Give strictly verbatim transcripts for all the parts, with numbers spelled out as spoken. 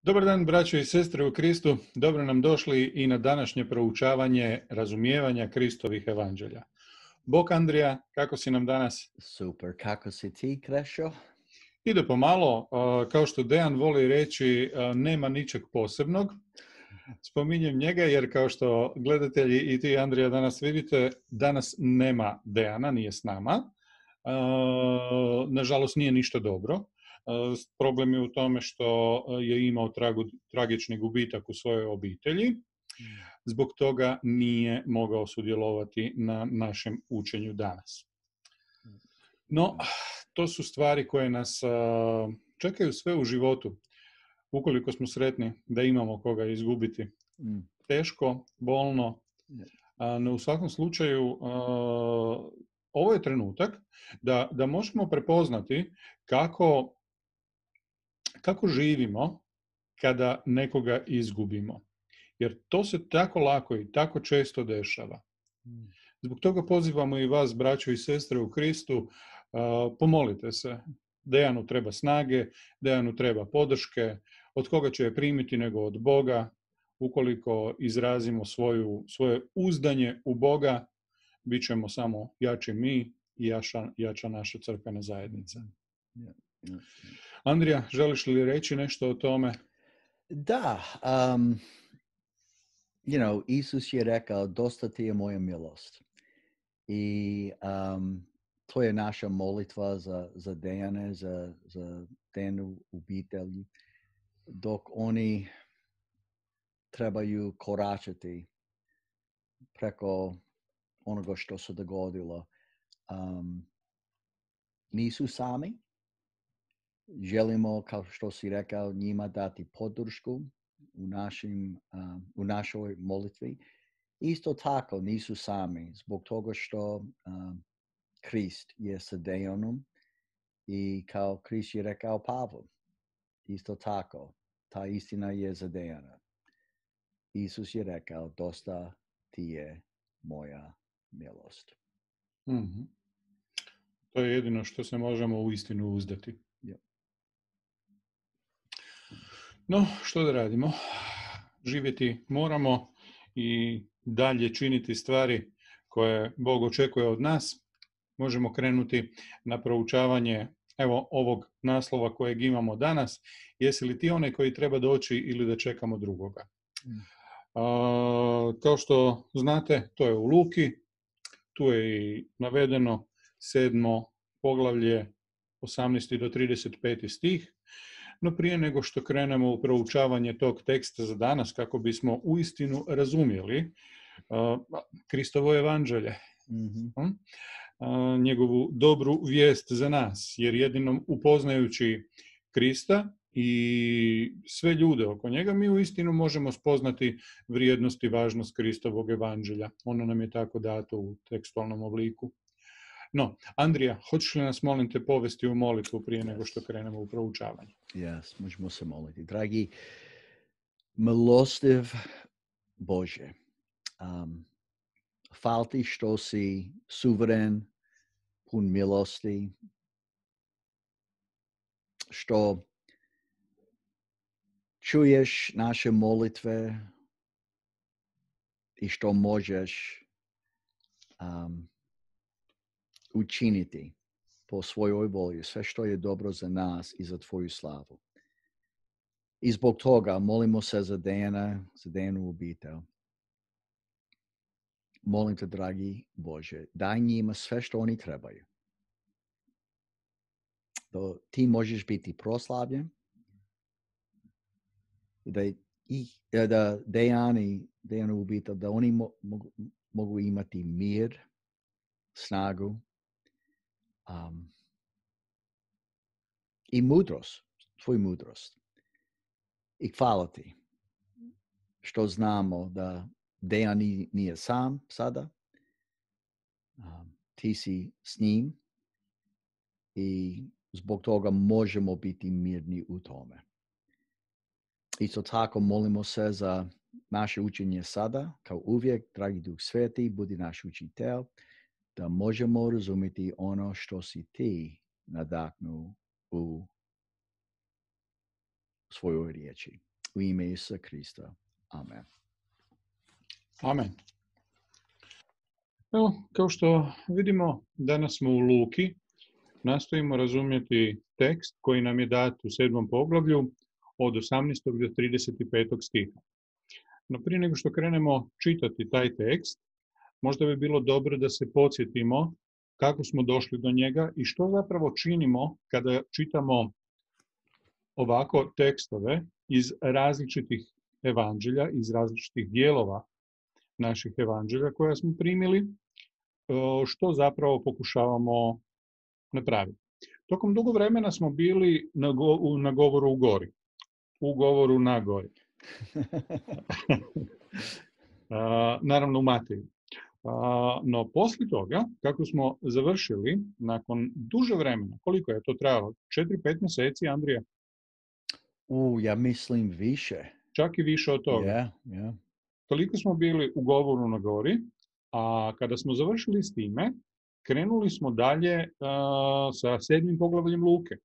Dobar dan, braćo i sestre u Kristu. Dobro nam došli i na današnje proučavanje razumijevanja Kristovih evanđelja. Bog Andrija, kako si nam danas? Super, kako si ti, Krešo? Ide pomalo, kao što Dejan voli reći, nema ničeg posebnog. Spominjem njega jer kao što gledatelji i ti, Andrija, danas vidite, danas nema Dejana, nije s nama. Nažalost, nije ništa dobro. Problem je u tome što je imao tragu, tragični gubitak u svojoj obitelji. Zbog toga nije mogao sudjelovati na našem učenju danas. No, to su stvari koje nas čekaju sve u životu. Ukoliko smo sretni da imamo koga izgubiti. Teško, bolno, no u svakom slučaju ovo je trenutak da, da možemo prepoznati kako Kako živimo kada nekoga izgubimo? Jer to se tako lako i tako često dešava. Zbog toga pozivamo i vas, braćo i sestre u Kristu, pomolite se. Dejanu treba snage, Dejanu treba podrške. Od koga će je primiti nego od Boga? Ukoliko izrazimo svoju, svoje uzdanje u Boga, bit ćemo samo jači mi i jača, jača naša crkvena zajednica. Andrija, želiš li reći nešto o tome? Da, um, you know, Isus je rekao, dosta ti je moja milost. I um, to je naša molitva za, za Dejane, za, za Dejanu obitelji, dok oni trebaju koračati preko onoga što se dogodilo. Um, nisu sami. Želimo, kao što si rekao, njima dati podršku u, našim, uh, u našoj molitvi. Isto tako nisu sami, zbog toga što uh, Krist je sa Dejanom i kao Krist je rekao Pavlu. Isto tako, ta istina je za Dejana. Isus je rekao, dosta ti je moja milost. Mm-hmm. To je jedino što se možemo u istinu uzdati. Yep. No, što da radimo? Živjeti moramo i dalje činiti stvari koje Bog očekuje od nas. Možemo krenuti na proučavanje evo ovog naslova kojeg imamo danas. Jesi li ti onaj koji treba doći ili da čekamo drugoga? Mm. A, kao što znate, to je u Luki. Tu je i navedeno sedmo poglavlje, osamnaesti do trideset peti stih. No prije nego što krenemo u proučavanje tog teksta za danas, kako bismo uistinu razumjeli uh, Kristovo evanđelje, mm-hmm. uh, njegovu dobru vijest za nas, jer jedinom upoznajući Krista i sve ljude oko njega, mi uistinu možemo spoznati vrijednost i važnost Kristovog evanđelja. Ono nam je tako dato u tekstualnom obliku. No, Andrija, hoćeš li nas, molim te, povesti u molitvu prije nego što krenemo u proučavanje? Yes, možemo se moliti. Dragi, milostiv Bože, um, hvala ti što si suveren, pun milosti, što čuješ naše molitve i što možeš um, učiniti po svojoj volji sve što je dobro za nas i za tvoju slavu. I zbog toga molimo se za Dejana, za Dejanu obitelj. Molim te, dragi Bože, daj njima sve što oni trebaju. Da ti možeš biti proslavljen, da, i, da Dejan i Dejanu obitelj, da oni mo, mogu, mogu imati mir, snagu, Um, i mudrost, tvoju mudrost. I hvala ti što znamo da Dejan nije sam sada. Um, ti si s njim i zbog toga možemo biti mirni u tome. Isto tako molimo se za naše učenje sada, kao uvijek, dragi Duh Sveti, budi naš učitelj, da možemo razumjeti ono što si ti nadahnuo u svojoj riječi. U ime Isusa Krista. Amen. Amen. Evo, kao što vidimo, danas smo u Luki, nastojimo razumjeti tekst koji nam je dat u sedmom poglavlju od osamnaestog do trideset petog stiha. No prije nego što krenemo čitati taj tekst, možda bi bilo dobro da se podsjetimo kako smo došli do njega i što zapravo činimo kada čitamo ovako tekstove iz različitih evanđelja, iz različitih dijelova naših evanđelja koja smo primili, što zapravo pokušavamo napraviti. Tokom dugo vremena smo bili na, go, na govoru u gori, u govoru na gori. Naravno u Mateju. No poslije toga, kako smo završili, nakon duže vremena, koliko je to trajalo? četiri pet mjeseci, Andrija? U, ja mislim više. Čak i više od toga. Yeah, yeah. Toliko smo bili u govoru na gori, a kada smo završili s time, krenuli smo dalje a, sa sedmim poglavljem Luke.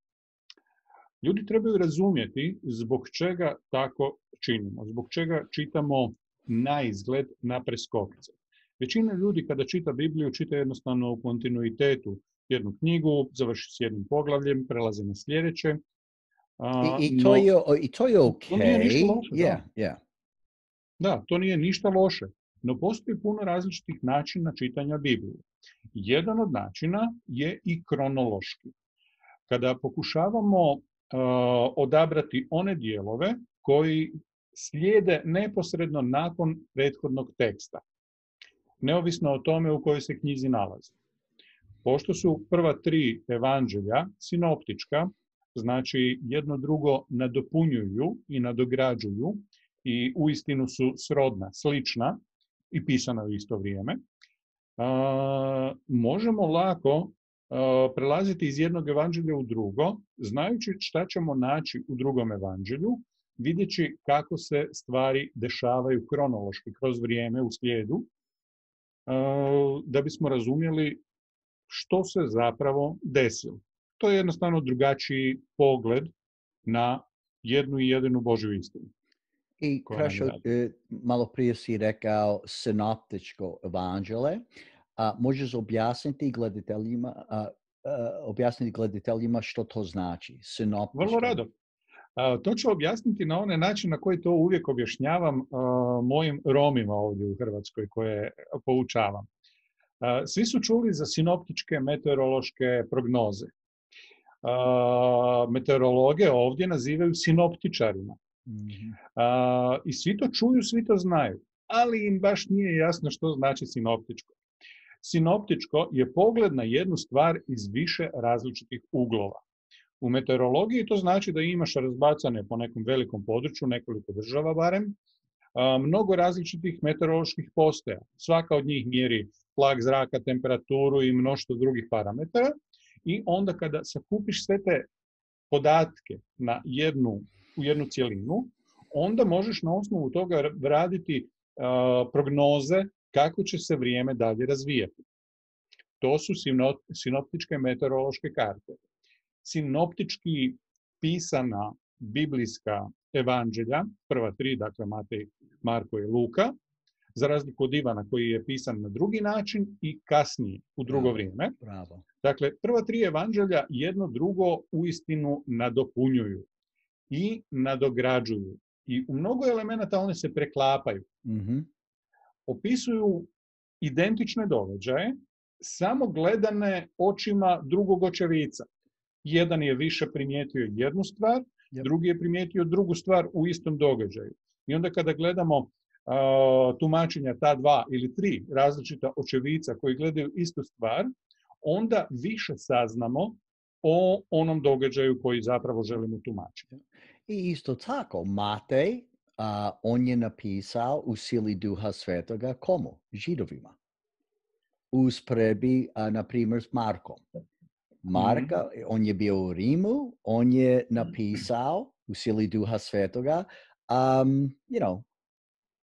Ljudi trebaju razumjeti zbog čega tako činimo, zbog čega čitamo na izgled, na preskokice. Većina ljudi kada čita Bibliju, čita jednostavno u kontinuitetu jednu knjigu, završi s jednim poglavljem, prelazi na sljedeće. A, I, i, to no, je, I to je ok. To nije ništa loše, yeah, da. Yeah. Da, to nije ništa loše, no postoji puno različitih načina čitanja Biblije. Jedan od načina je i kronološki. Kada pokušavamo uh, odabrati one dijelove koji slijede neposredno nakon prethodnog teksta, neovisno o tome u kojoj se knjizi nalazi. Pošto su prva tri evanđelja sinoptička, znači jedno drugo nadopunjuju i nadograđuju i uistinu su srodna, slična i pisana u isto vrijeme, a, možemo lako a, prelaziti iz jednog evanđelja u drugo, znajući šta ćemo naći u drugom evanđelju, vidjeći kako se stvari dešavaju kronološki kroz vrijeme u slijedu, a, da bismo razumjeli što se zapravo desilo. To je jednostavno drugačiji pogled na jednu i jedinu Božju istinu. I Krašo, malo prije si rekao sinoptičko evanđelje. A možeš objasniti gledateljima, a, a, objasniti gledateljima što to znači? Sinoptičko. Vrlo rado. A, to ću objasniti na onaj način na koji to uvijek objašnjavam a, mojim Romima ovdje u Hrvatskoj koje poučavam. A, svi su čuli za sinoptičke meteorološke prognoze. A, meteorologe ovdje nazivaju sinoptičarima. Mm-hmm. A, I svi to čuju, svi to znaju, ali im baš nije jasno što znači sinoptičko. Sinoptičko je pogled na jednu stvar iz više različitih uglova. U meteorologiji to znači da imaš razbacane po nekom velikom području, nekoliko država barem, a, mnogo različitih meteoroloških postaja. Svaka od njih mjeri tlak zraka, temperaturu i mnoštvo drugih parametara. I onda kada sakupiš sve te podatke na jednu, u jednu cjelinu, onda možeš na osnovu toga raditi uh, prognoze kako će se vrijeme dalje razvijati. To su sinoptičke meteorološke karte. Sinoptički pisana biblijska evanđelja, prva tri, dakle Matej, Marko i Luka, za razliku od Ivana koji je pisan na drugi način i kasnije u drugo Bravo. vrijeme. Bravo. Dakle, prva tri evanđelja jedno drugo uistinu nadopunjuju i nadograđuju. I u mnogo elemenata one se preklapaju. Mm-hmm. Opisuju identične događaje, samo gledane očima drugog očevica. Jedan je više primijetio jednu stvar, yep. drugi je primijetio drugu stvar u istom događaju. I onda kada gledamo uh, tumačenja ta dva ili tri različita očevica koji gledaju istu stvar, onda više saznamo o onom događaju koji zapravo želimo tumačiti. I isto tako, Matej, uh, on je napisao u sili Duha Svetoga komu? Židovima. Usporedbi, uh, na primjer, s Markom. Marka, mm-hmm. on je bio u Rimu, on je napisao u sili Duha Svetoga, um, you know,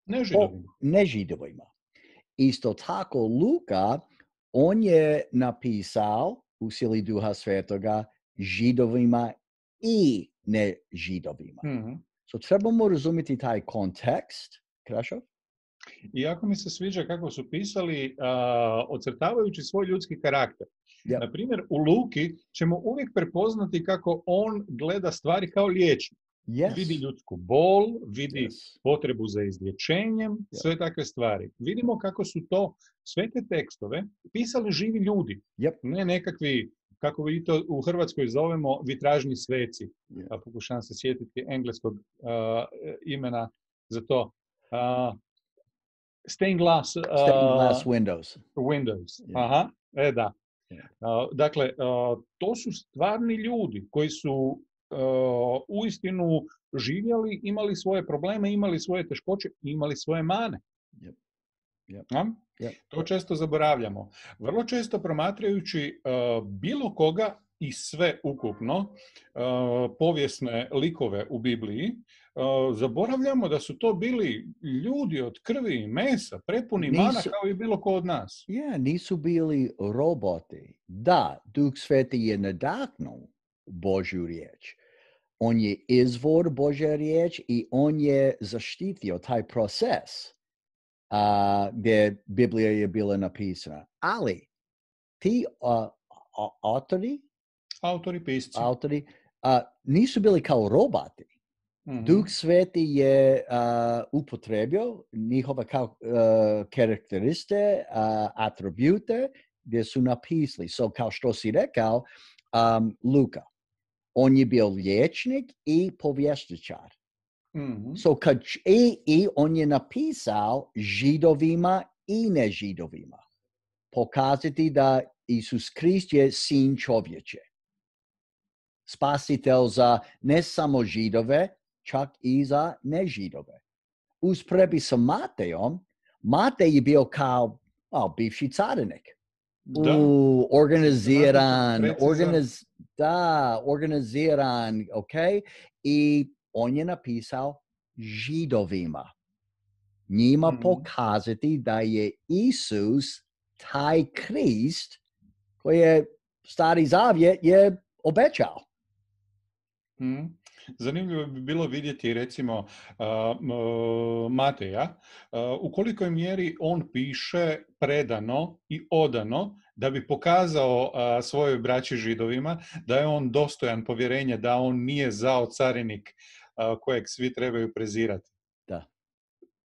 ne Židovima. O, ne Židovima. Isto tako, Luka, on je napisao u sili Duha Svetoga Židovima i ne Židovima. Mm-hmm. So trebamo razumjeti taj kontekst, Krašo? I jako mi se sviđa kako su pisali, uh, ocrtavajući svoj ljudski karakter. Yep. Na primjer, u Luki ćemo uvijek prepoznati kako on gleda stvari kao liječnik. Yes. Vidi ljudsku bol, vidi Yes. potrebu za izlječenjem, Yep. sve takve stvari. Vidimo kako su to, sve te tekstove, pisali živi ljudi. Yep. Ne nekakvi, kako vi to u Hrvatskoj zovemo, vitražni sveci. Yep. Pa pokušavam se sjetiti engleskog uh, imena za to. Uh, stained glass, uh, Stained glass windows. Windows. Yeah. Aha, e da. Yeah. Uh, dakle, uh, to su stvarni ljudi koji su uh, uistinu živjeli, imali svoje probleme, imali svoje teškoće, imali svoje mane. Yep. Yep. Ja? Yep. To često zaboravljamo. Vrlo često promatrajući uh, bilo koga i sve ukupno, uh, povijesne likove u Bibliji, uh, zaboravljamo da su to bili ljudi od krvi i mesa, prepuni Nisu, mana kao i bilo ko od nas. Yeah, nisu bili roboti. Da, Duh Sveti je nadahnuo Božju riječ. On je izvor Božje riječ i on je zaštitio taj proces uh, gdje Biblija je bila napisana. Ali ti uh, autori, Autori, pisci. autori uh, nisu bili kao roboti. Mm-hmm. Duh Sveti je uh, upotrebio njihove kao, uh, karakteriste, uh, atribute gdje su napisali. So, kao što si rekao, um, Luka, on je bio liječnik i povjesničar. Mm-hmm. So, kad, i, i on je napisao židovima i nežidovima. Pokazati da Isus Krist je sin čovječe. Spasitelj za ne samo židove, čak i za nežidove. Usporedbi sa Matejom, Matej je bio kao oh, bivši carinik. Da. U, organiziran, Precizan. organiz, da, organiziran, ok? I on je napisao židovima. Njima Mm-hmm. pokazati da je Isus taj Krist koji je Stari Zavjet je obećao. Mm. Zanimljivo bi bilo vidjeti recimo uh, Mateja uh, u kolikoj mjeri on piše predano i odano da bi pokazao uh, svojoj braći židovima da je on dostojan povjerenja, da on nije zao carinik uh, kojeg svi trebaju prezirati. Da.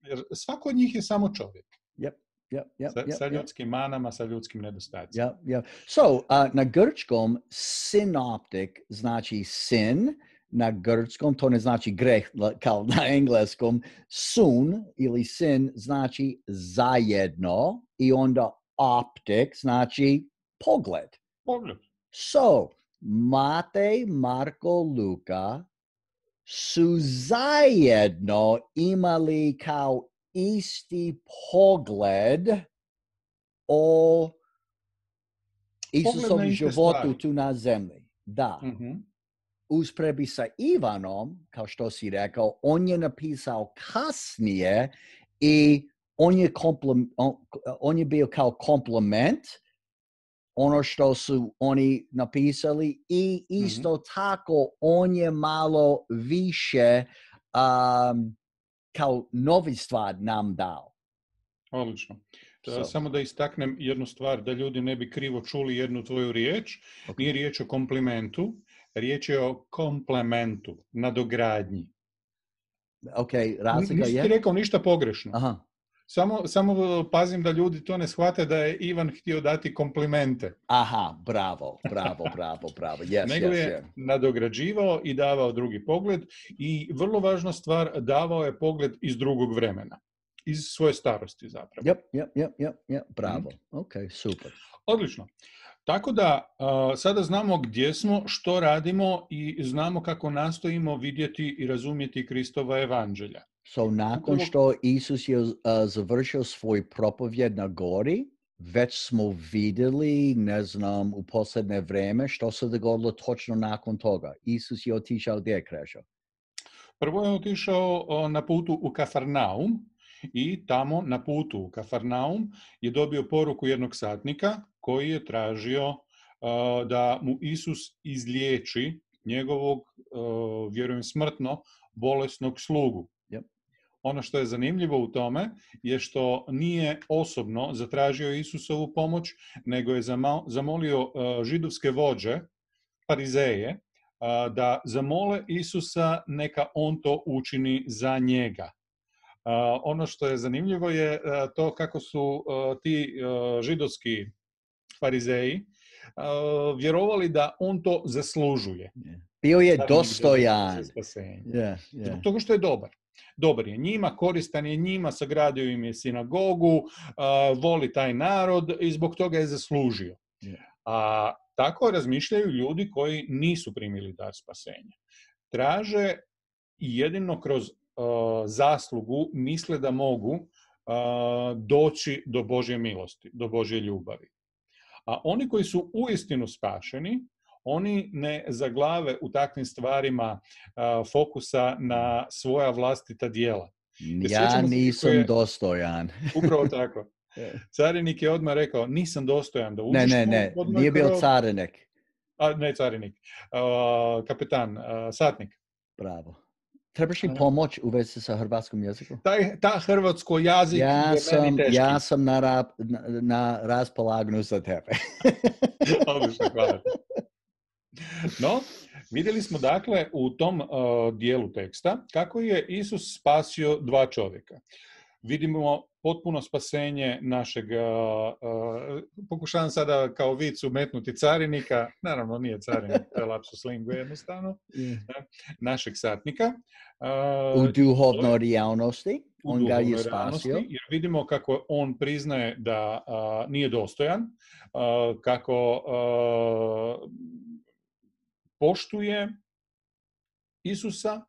Jer svako od njih je samo čovjek. Yep. Yep, yep, sa, yep, sa yep. ljudskim manama, sa ljudskim nedostacima. Yep, yep. So, uh, na grčkom synoptic znači sin, na grčkom to ne znači greh kao na engleskom. Sun ili sin znači zajedno i onda optic znači pogled. Pogled. So, Matej, Marko, Luka su zajedno imali kao isti pogled o Isusovom životu stvari. Tu na zemlji. Da. Mm-hmm. Usporedbi sa Ivanom, kao što si rekao, on je napisao kasnije i on je, komplem, on, on je bio kao komplement ono što su oni napisali i isto mm-hmm. tako on je malo više um, kao novi stvar nam dao. Odlično. So. Samo da istaknem jednu stvar, da ljudi ne bi krivo čuli jednu tvoju riječ. Okay. Nije riječ o komplimentu, riječ je o komplementu, nadogradnji. Ok, razlika je? Nisi ti rekao ništa pogrešno. Aha. Samo, samo pazim da ljudi to ne shvate da je Ivan htio dati komplimente. Aha, bravo, bravo, bravo, bravo. Yes, Nego yes, je yes. nadograđivao i davao drugi pogled i vrlo važna stvar, davao je pogled iz drugog vremena. Iz svoje starosti zapravo. Yep, yep, yep, yep, yep. Bravo. Mm. Ok, super. Odlično. Tako da uh, sada znamo gdje smo, što radimo i znamo kako nastojimo vidjeti i razumjeti Kristova evanđelja. So, nakon što Isus je uh, završio svoj propovjed na gori, već smo vidjeli, ne znam, u posljednje vrijeme što se dogodilo točno nakon toga. Isus je otišao gdje, Krešo? Prvo je otišao uh, na putu u Kafarnaum i tamo na putu u Kafarnaum je dobio poruku jednog satnika koji je tražio uh, da mu Isus izliječi njegovog, uh, vjerujem smrtno, bolesnog slugu. Yep. Ono što je zanimljivo u tome je što nije osobno zatražio Isusovu pomoć, nego je zamolio uh, židovske vođe, farizeje, uh, da zamole Isusa neka on to učini za njega. Uh, ono što je zanimljivo je uh, to kako su uh, ti uh, židovski farizeji uh, vjerovali da on to zaslužuje. Yeah. Bio je Carinik dostojan. Yeah, yeah. Zbog toga što je dobar. Dobar je njima, koristan je njima, sagradio im je sinagogu, uh, voli taj narod i zbog toga je zaslužio. Yeah. A tako razmišljaju ljudi koji nisu primili dar spasenja. Traže i jedino kroz uh, zaslugu misle da mogu uh, doći do Božje milosti, do Božje ljubavi. A oni koji su uistinu spašeni, oni ne zaglave u takvim stvarima uh, fokusa na svoja vlastita djela. Ja nisam je, dostojan. Upravo tako. Carinik je odmah rekao, nisam dostojan da uđeš. Ne, ne, ne, nije bio carinik. A, ne carinik, uh, kapetan, uh, satnik. Bravo. Trebaš li pomoć u vezi sa hrvatskom jezikom? Taj, ta hrvatsko jezik ja je sam, meni teški. Ja sam na, ra, na, na raspolaganju za tebe. Odlično, hvala. No, vidjeli smo dakle u tom uh, dijelu teksta kako je Isus spasio dva čovjeka. Vidimo potpuno spasenje našeg, uh, uh, pokušavam sada kao vic umetnuti carinika, naravno nije carinik, to je lapsus lingue jednostavno, yeah. našeg satnika. Uh, u duhovnoj realnosti, on ga je spasio. Jer vidimo kako on priznaje da uh, nije dostojan, uh, kako uh, poštuje Isusa,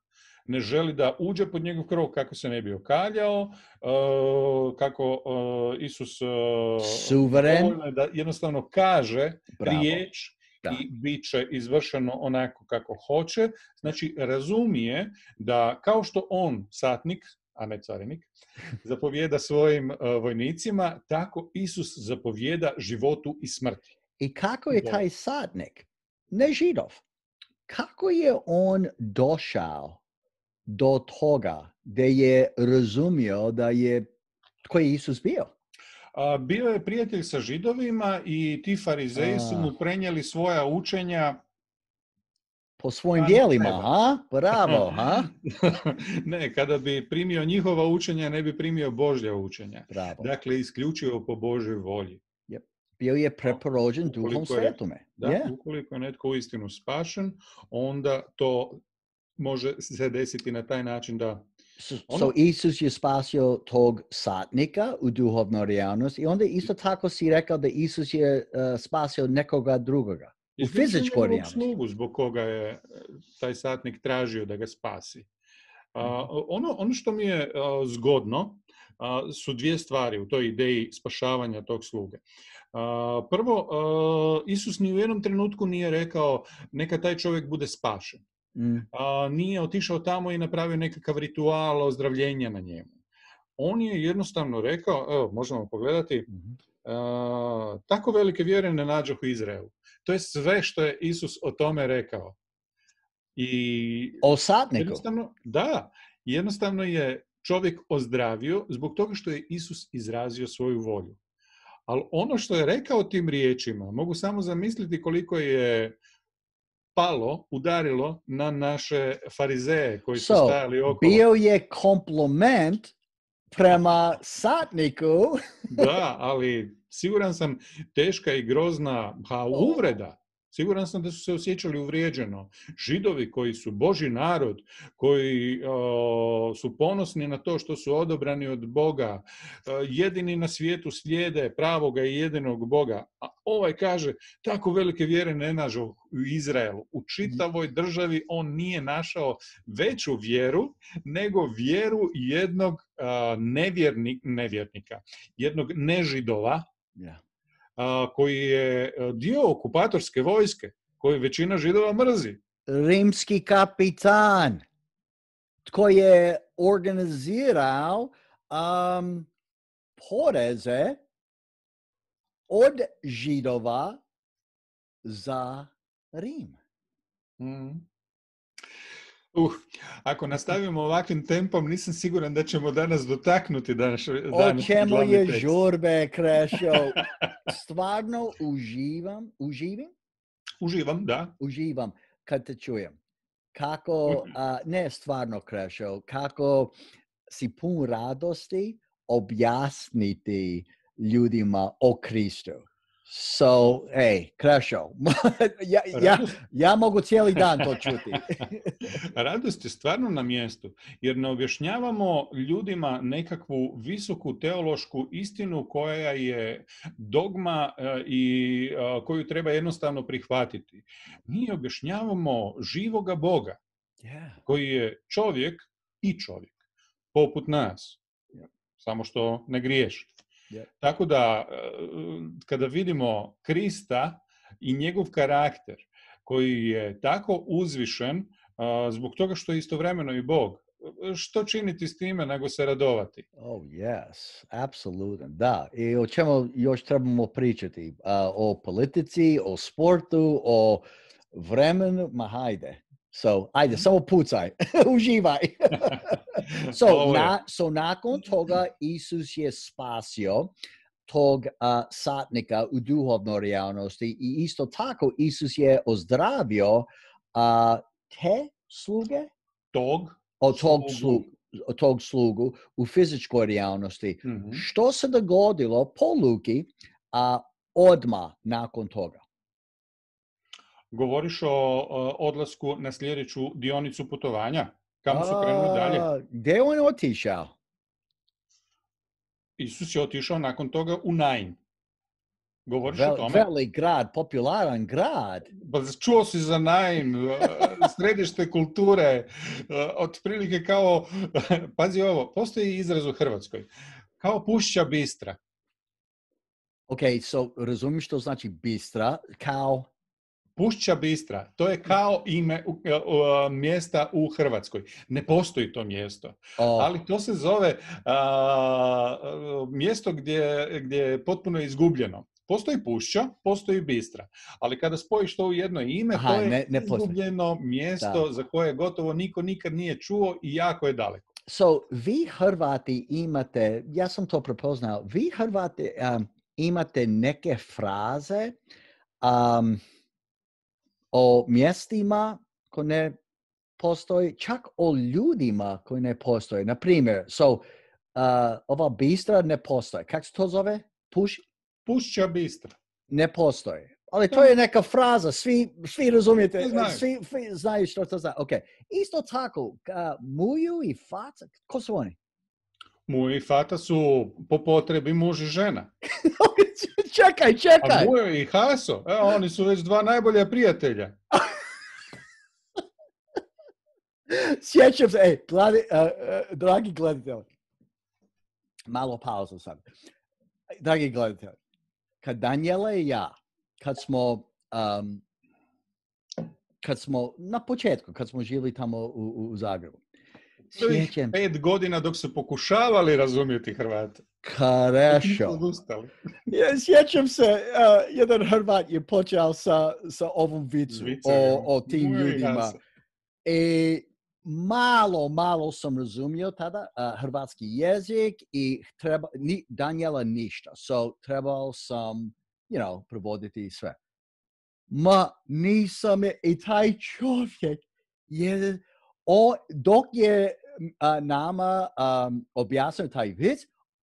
ne želi da uđe pod njegov krov kako se ne bi okaljao, uh, kako uh, Isus uh, suveren, da jednostavno kaže Bravo. riječ da. I bit će izvršeno onako kako hoće. Znači, razumije da kao što on, satnik, a ne carinik, zapovijeda svojim uh, vojnicima, tako Isus zapovijeda životu i smrti. I kako je taj satnik, ne Židov, kako je on došao do toga da je razumio da je tko je Isus bio? A, bio je prijatelj sa Židovima i ti farizeji su mu prenijeli svoja učenja po svojim dijelima, ha? Bravo, ha? Ne, kada bi primio njihova učenja, ne bi primio Božja učenja. Bravo. Dakle, isključivo po Božjoj volji. Yep. Bio je preporođen Duhom Svetome. Da, yeah. Ukoliko je netko uistinu spašen, onda to može se desiti na taj način da... So, ono... so Isus je spasio tog satnika u duhovnoj realnosti i onda isto tako si rekao da Isus je uh, spasio nekoga drugoga u fizičkoj realnosti. Slugu zbog koga je taj satnik tražio da ga spasi. Uh, ono, ono što mi je uh, zgodno uh, su dvije stvari u toj ideji spašavanja tog sluge. Uh, prvo, uh, Isus ni u jednom trenutku nije rekao neka taj čovjek bude spašen. Mm. A, nije otišao tamo i napravio nekakav ritual ozdravljenja na njemu. On je jednostavno rekao, evo, možemo pogledati, mm-hmm. a, tako velike vjere ne nađoh u Izraelu. To je sve što je Isus o tome rekao. I o satniku? Jednostavno, da, jednostavno je čovjek ozdravio zbog toga što je Isus izrazio svoju volju. Ali ono što je rekao tim riječima, mogu samo zamisliti koliko je palo, udarilo na naše farizeje koji su so, stajali okolo. Bio je kompliment prema satniku. Da, ali siguran sam teška i grozna ha, uvreda. Siguran sam da su se osjećali uvrijeđeno. Židovi koji su Božji narod, koji o, su ponosni na to što su odobrani od Boga, o, jedini na svijetu slijede pravoga i jedinog Boga. A ovaj kaže, tako velike vjere ne nađu u Izraelu. U čitavoj državi on nije našao veću vjeru nego vjeru jednog a, nevjernik, nevjernika, jednog nežidova, yeah. A, koji je dio okupatorske vojske, koju većina Židova mrzi. Rimski kapitan, tko je organizirao um, poreze od Židova za Rim. Mm. Uh, ako nastavimo ovakvim tempom, nisam siguran da ćemo danas dotaknuti danas, O danas čemu glavni je tekst. žurbe, Krešo? Stvarno uživam, uživim? Uživam, da. Uživam kad te čujem. Kako, a, ne stvarno, Krešo, kako si pun radosti objasniti ljudima o Kristu. So, hey, Krešo, ja, ja, ja mogu cijeli dan to čuti. Radost je stvarno na mjestu, jer ne objašnjavamo ljudima nekakvu visoku teološku istinu koja je dogma i koju treba jednostavno prihvatiti. Mi objašnjavamo živoga Boga, Yeah. koji je čovjek i čovjek, poput nas, Yeah. samo što ne griješi. Yeah. Tako da, kada vidimo Krista i njegov karakter, koji je tako uzvišen, zbog toga što je istovremeno i Bog, što činiti s time nego se radovati? Oh, yes, apsolutno, da. I o čemu još trebamo pričati? Uh, o politici, o sportu, o vremenu, ma hajde. So, ajde, samo pucaj, uživaj. so, na, so, nakon toga Isus je spasio tog uh, satnika u duhovnoj realnosti i isto tako Isus je ozdravio uh, te sluge? Tog o tog slugu. tog slugu u fizičkoj realnosti. Mm-hmm. Što se dogodilo po Luki a, odmah nakon toga? Govoriš o, o odlasku na sljedeću dionicu putovanja? Kamo su krenuli dalje? Gdje on otišao? Isus je otišao nakon toga u Nain. Govoriš Vel, o tome? Veli grad, popularan grad. Pa čuo si za Nain, središte kulture, otprilike kao, pazi ovo, postoji izraz u Hrvatskoj, kao Pušća Bistra. Ok, so razumiješ što znači Bistra, kao... Pušća Bistra, to je kao ime uh, uh, mjesta u Hrvatskoj. Ne postoji to mjesto, oh. ali to se zove uh, uh, mjesto gdje, gdje je potpuno izgubljeno. Postoji Pušća, postoji Bistra, ali kada spojiš to u jedno ime, Aha, to je ne, ne izgubljeno mjesto da. za koje gotovo niko nikad nije čuo i jako je daleko. So, vi Hrvati imate, ja sam to prepoznao, vi Hrvati um, imate neke fraze um, o mjestima koje ne postoji, čak o ljudima koji ne postoje. Na primjer, so, uh, ova Bistra ne postoji. Kako se to zove? Puš? Pušća Bistra. Ne postoji. Ali to je neka fraza, svi, svi razumijete, znaju. Svi, svi znaju što to znači. Okay. Isto tako, uh, Muju i Fata, ko su oni? Muju i Fata su po potrebi muž i žena. čekaj, čekaj. A Mujo i Haso, e, oni su već dva najbolja prijatelja. Sjećam se, ej, gledi, uh, uh, dragi gledatelji, malo pauzu sad. Dragi gledatelji, kad Daniela i ja, kad smo, um, kad smo, na početku, kad smo živjeli tamo u, u Zagrebu, sjećam pet godina dok su pokušavali razumjeti Hrvate. Krešo. Ja, sjećam se, uh, jedan Hrvat je počeo sa, sa ovom vicu o, o tim Moj ljudima. I malo, malo sam razumio tada uh, hrvatski jezik i treba, ni, Daniela ništa. So, trebao sam, you know, prevoditi sve. Ma, nisam je, i taj čovjek je, o, dok je uh, nama um, objasnio taj vic,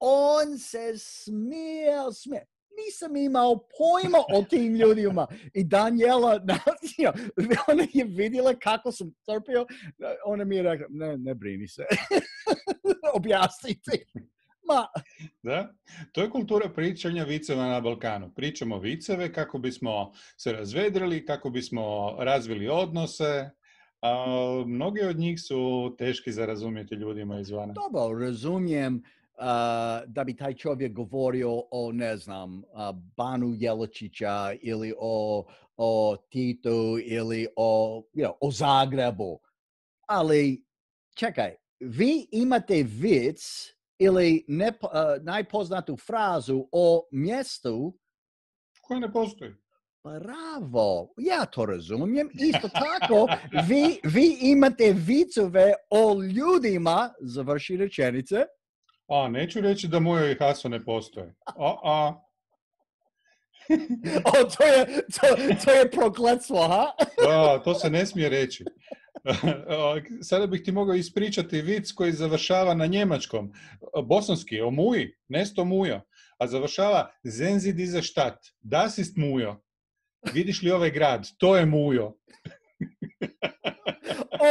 on se smijao, smijao. Nisam imao pojma o tim ljudima. I Daniela, ona je vidjela kako sam trpio. Ona mi je rekla, ne, ne brini se. Objasniti. Ma. Da, to je kultura pričanja viceva na Balkanu. Pričamo viceve kako bismo se razvedrili, kako bismo razvili odnose. A mnogi od njih su teški za razumjeti ljudima izvana. Dobro, razumijem. Uh, da bi taj čovjek govorio o, ne znam, uh, Banu Jelačića ili o, o Titu ili o, you know, o Zagrebu. Ali, čekaj, vi imate vic ili ne, uh, najpoznatu frazu o mjestu koja ne postoji. Bravo, ja to razumijem. Isto tako, vi, vi imate vicove o ljudima, završi rečenice. A, neću reći da Mujo i Haso ne postoje. A, a. O, to je, to, to je prokletstvo, ha? A, to se ne smije reći. Sada bih ti mogao ispričati vic koji završava na njemačkom. Bosanski, o Muji, nesto Mujo. A završava Sehen Sie diese Stadt, das ist Mujo. Vidiš li ovaj grad? To je Mujo.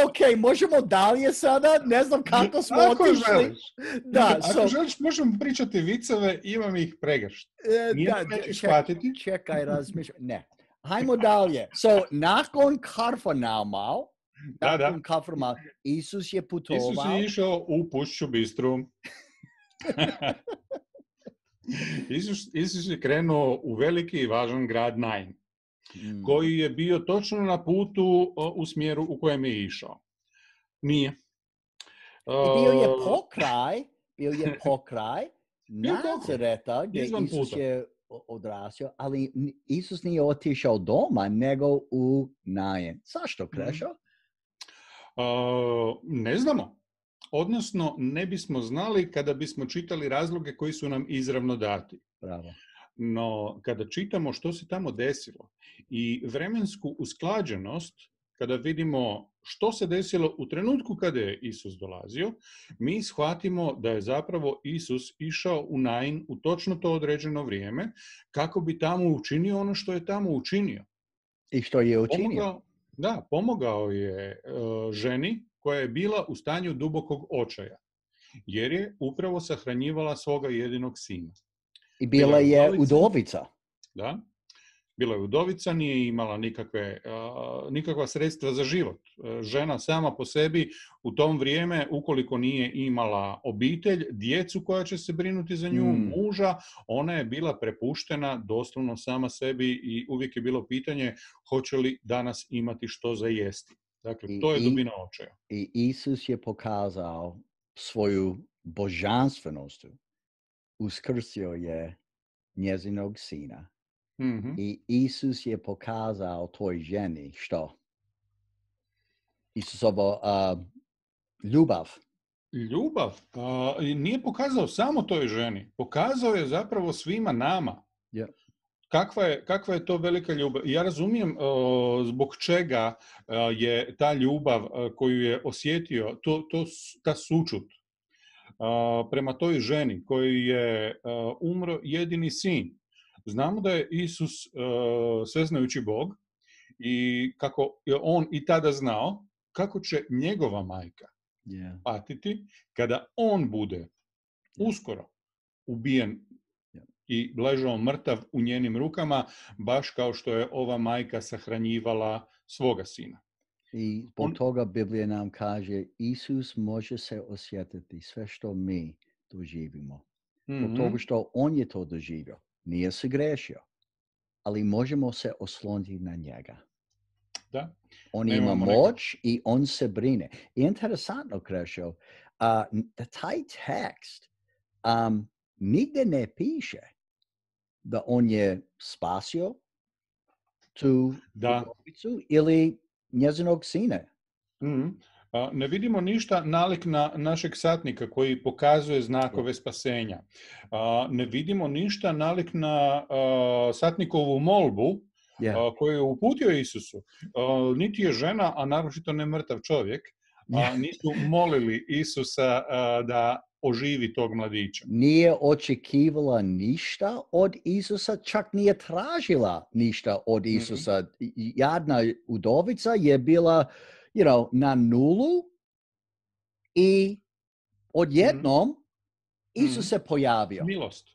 Ok, možemo dalje sada? Ne znam kako smo Ako otišli. želiš. Da, Ako so, želiš, možemo pričati viceve, imam ih pregršt. e, Nije da, nećeš ček- shvatiti. čekaj, razmišljam. Ne. Hajmo dalje. So, nakon Kafarnauma, Da, da. nakon Kafarnauma, Isus je putovao. Isus je išao u Pušću Bistru. Isus, Isus je krenuo u veliki i važan grad Nain, Mm. koji je bio točno na putu o, u smjeru u kojem je išao. Nije. I bio je Uh, pokraj, bio je pokraj Bio pokraj, Nazareta gdje izvan Isus puta. je o- odrasio, ali n- Isus nije otišao doma, nego u Nain. Zašto, Krešo? Uh, ne znamo. Odnosno, ne bismo znali kada bismo čitali razloge koji su nam izravno dati. Bravo. No, kada čitamo što se tamo desilo i vremensku usklađenost, kada vidimo što se desilo u trenutku kada je Isus dolazio, mi shvatimo da je zapravo Isus išao u Nain u točno to određeno vrijeme kako bi tamo učinio ono što je tamo učinio. I što je učinio? Pomogao, da, pomogao je uh, ženi koja je bila u stanju dubokog očaja, jer je upravo sahranjivala svoga jedinog sina. I bila bila je je udovica. udovica. Da? Bila je udovica, nije imala nikakve, uh, nikakva sredstva za život. Uh, žena sama po sebi u tom vrijeme, ukoliko nije imala obitelj, djecu koja će se brinuti za nju, Mm. muža, ona je bila prepuštena doslovno sama sebi i uvijek je bilo pitanje hoće li danas imati što za jesti. Dakle, I- to je i- dubina očaja. I Isus je pokazao svoju božanstvenost. Uskrsio je njezinog sina. Mhm. I Isus je pokazao toj ženi što? Isusovo uh, ljubav. Ljubav a, i nije pokazao samo toj ženi, pokazao je zapravo svima nama. Ja. Kakva je, kakva je to velika ljubav? Ja razumijem o, zbog čega a, je ta ljubav a, koju je osjetio, to, to, s- ta sućut a, prema toj ženi koji je a, umro jedini sin. Znamo da je Isus a, sveznajući Bog i kako je on i tada znao kako će njegova majka Yeah. patiti kada on bude uskoro ubijen Ja. i ležao mrtav u njenim rukama, baš kao što je ova majka sahranjivala svoga sina. I zbog On- toga Biblija nam kaže Isus može se osjetiti sve što mi doživimo. Zbog Mhm. toga što on je to doživio. Nije se grešio. Ali možemo se osloniti na njega. Da. On Nemamo ima neke- moć i on se brine. I interesantno, Krešo, uh, da taj tekst um, nigde ne piše da on je spasio tu Da. udovicu ili njezinog sina. Mhm. A, Ne vidimo ništa nalik na našeg satnika koji pokazuje znakove spasenja. A, Ne vidimo ništa nalik na a, satnikovu molbu Yeah. a, koju je uputio Isusu. A, Niti je žena, a naročito ne mrtav čovjek, a, nisu molili Isusa a, da oživi tog mladića. Nije očekivala ništa od Isusa, čak nije tražila ništa od Mhm. Isusa. I- Jadna udovica je bila, you know, na nulu i odjednom Isus Mhm. se pojavio. Milost.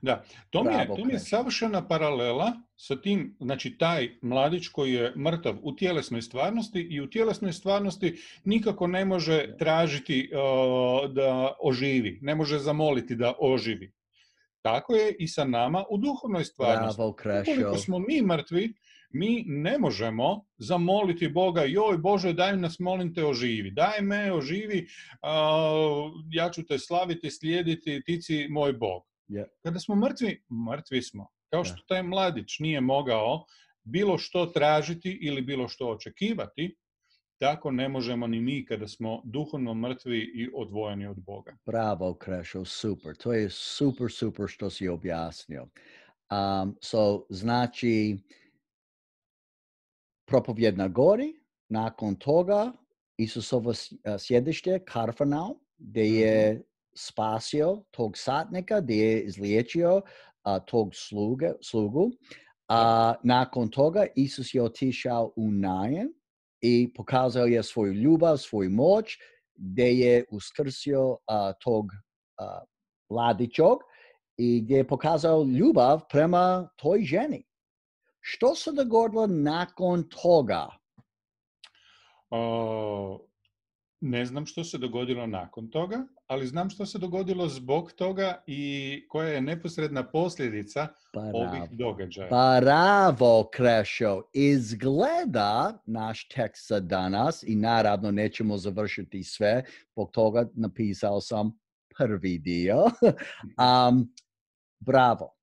Da, to mi, je, Bravo, to mi je Krešo. savršena paralela sa tim, znači taj mladić koji je mrtav u tjelesnoj stvarnosti i u tjelesnoj stvarnosti nikako ne može tražiti uh, da oživi, ne može zamoliti da oživi. Tako je i sa nama u duhovnoj stvarnosti. Bravo, Krešo. Ukoliko smo mi mrtvi, mi ne možemo zamoliti Boga, joj Bože, daj nas, molim te, oživi. Daj me, oživi, a, ja ću te slaviti, slijediti, ti si moj Bog. Yeah. Kada smo mrtvi, mrtvi smo. Kao što taj mladić nije mogao bilo što tražiti ili bilo što očekivati, tako ne možemo ni mi kada smo duhovno mrtvi i odvojeni od Boga. Bravo, Krešo, super. To je super, super što si objasnio. Um, so, znači, propovjed na gori, nakon toga Isusovo sjedište, Kafarnaum, gdje je spasio tog satnika, gdje je izliječio a, tog sluge, slugu. A nakon toga Isus je otišao u Nain i pokazao je svoju ljubav, svoju moć, gdje je uskrsio a, tog a, mladićog i gdje je pokazao ljubav prema toj ženi. Što se dogodilo nakon toga? O, ne znam što se dogodilo nakon toga, ali znam što se dogodilo zbog toga i koja je neposredna posljedica Bravo. ovih događaja. Bravo, Krešo. Izgleda naš tekst za danas i naravno nećemo završiti sve, zbog toga napisao sam prvi dio. um, bravo.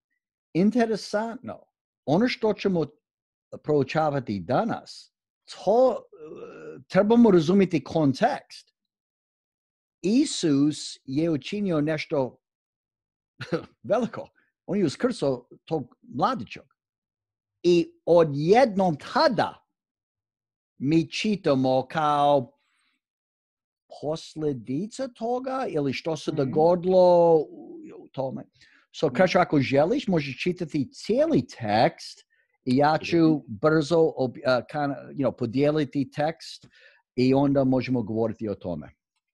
Interesantno. Ono što ćemo proučavati danas, to uh, trebamo razumjeti kontekst. Isus je učinio nešto veliko. On je uskrsao tog mladića. I odjednom tada mi čitamo kao posljedica toga ili što se dogodilo u tome. So, Krešo, ako želiš, možeš čitati cijeli tekst i ja ću brzo uh, kind of, you know, podijeliti tekst i onda možemo govoriti o tome.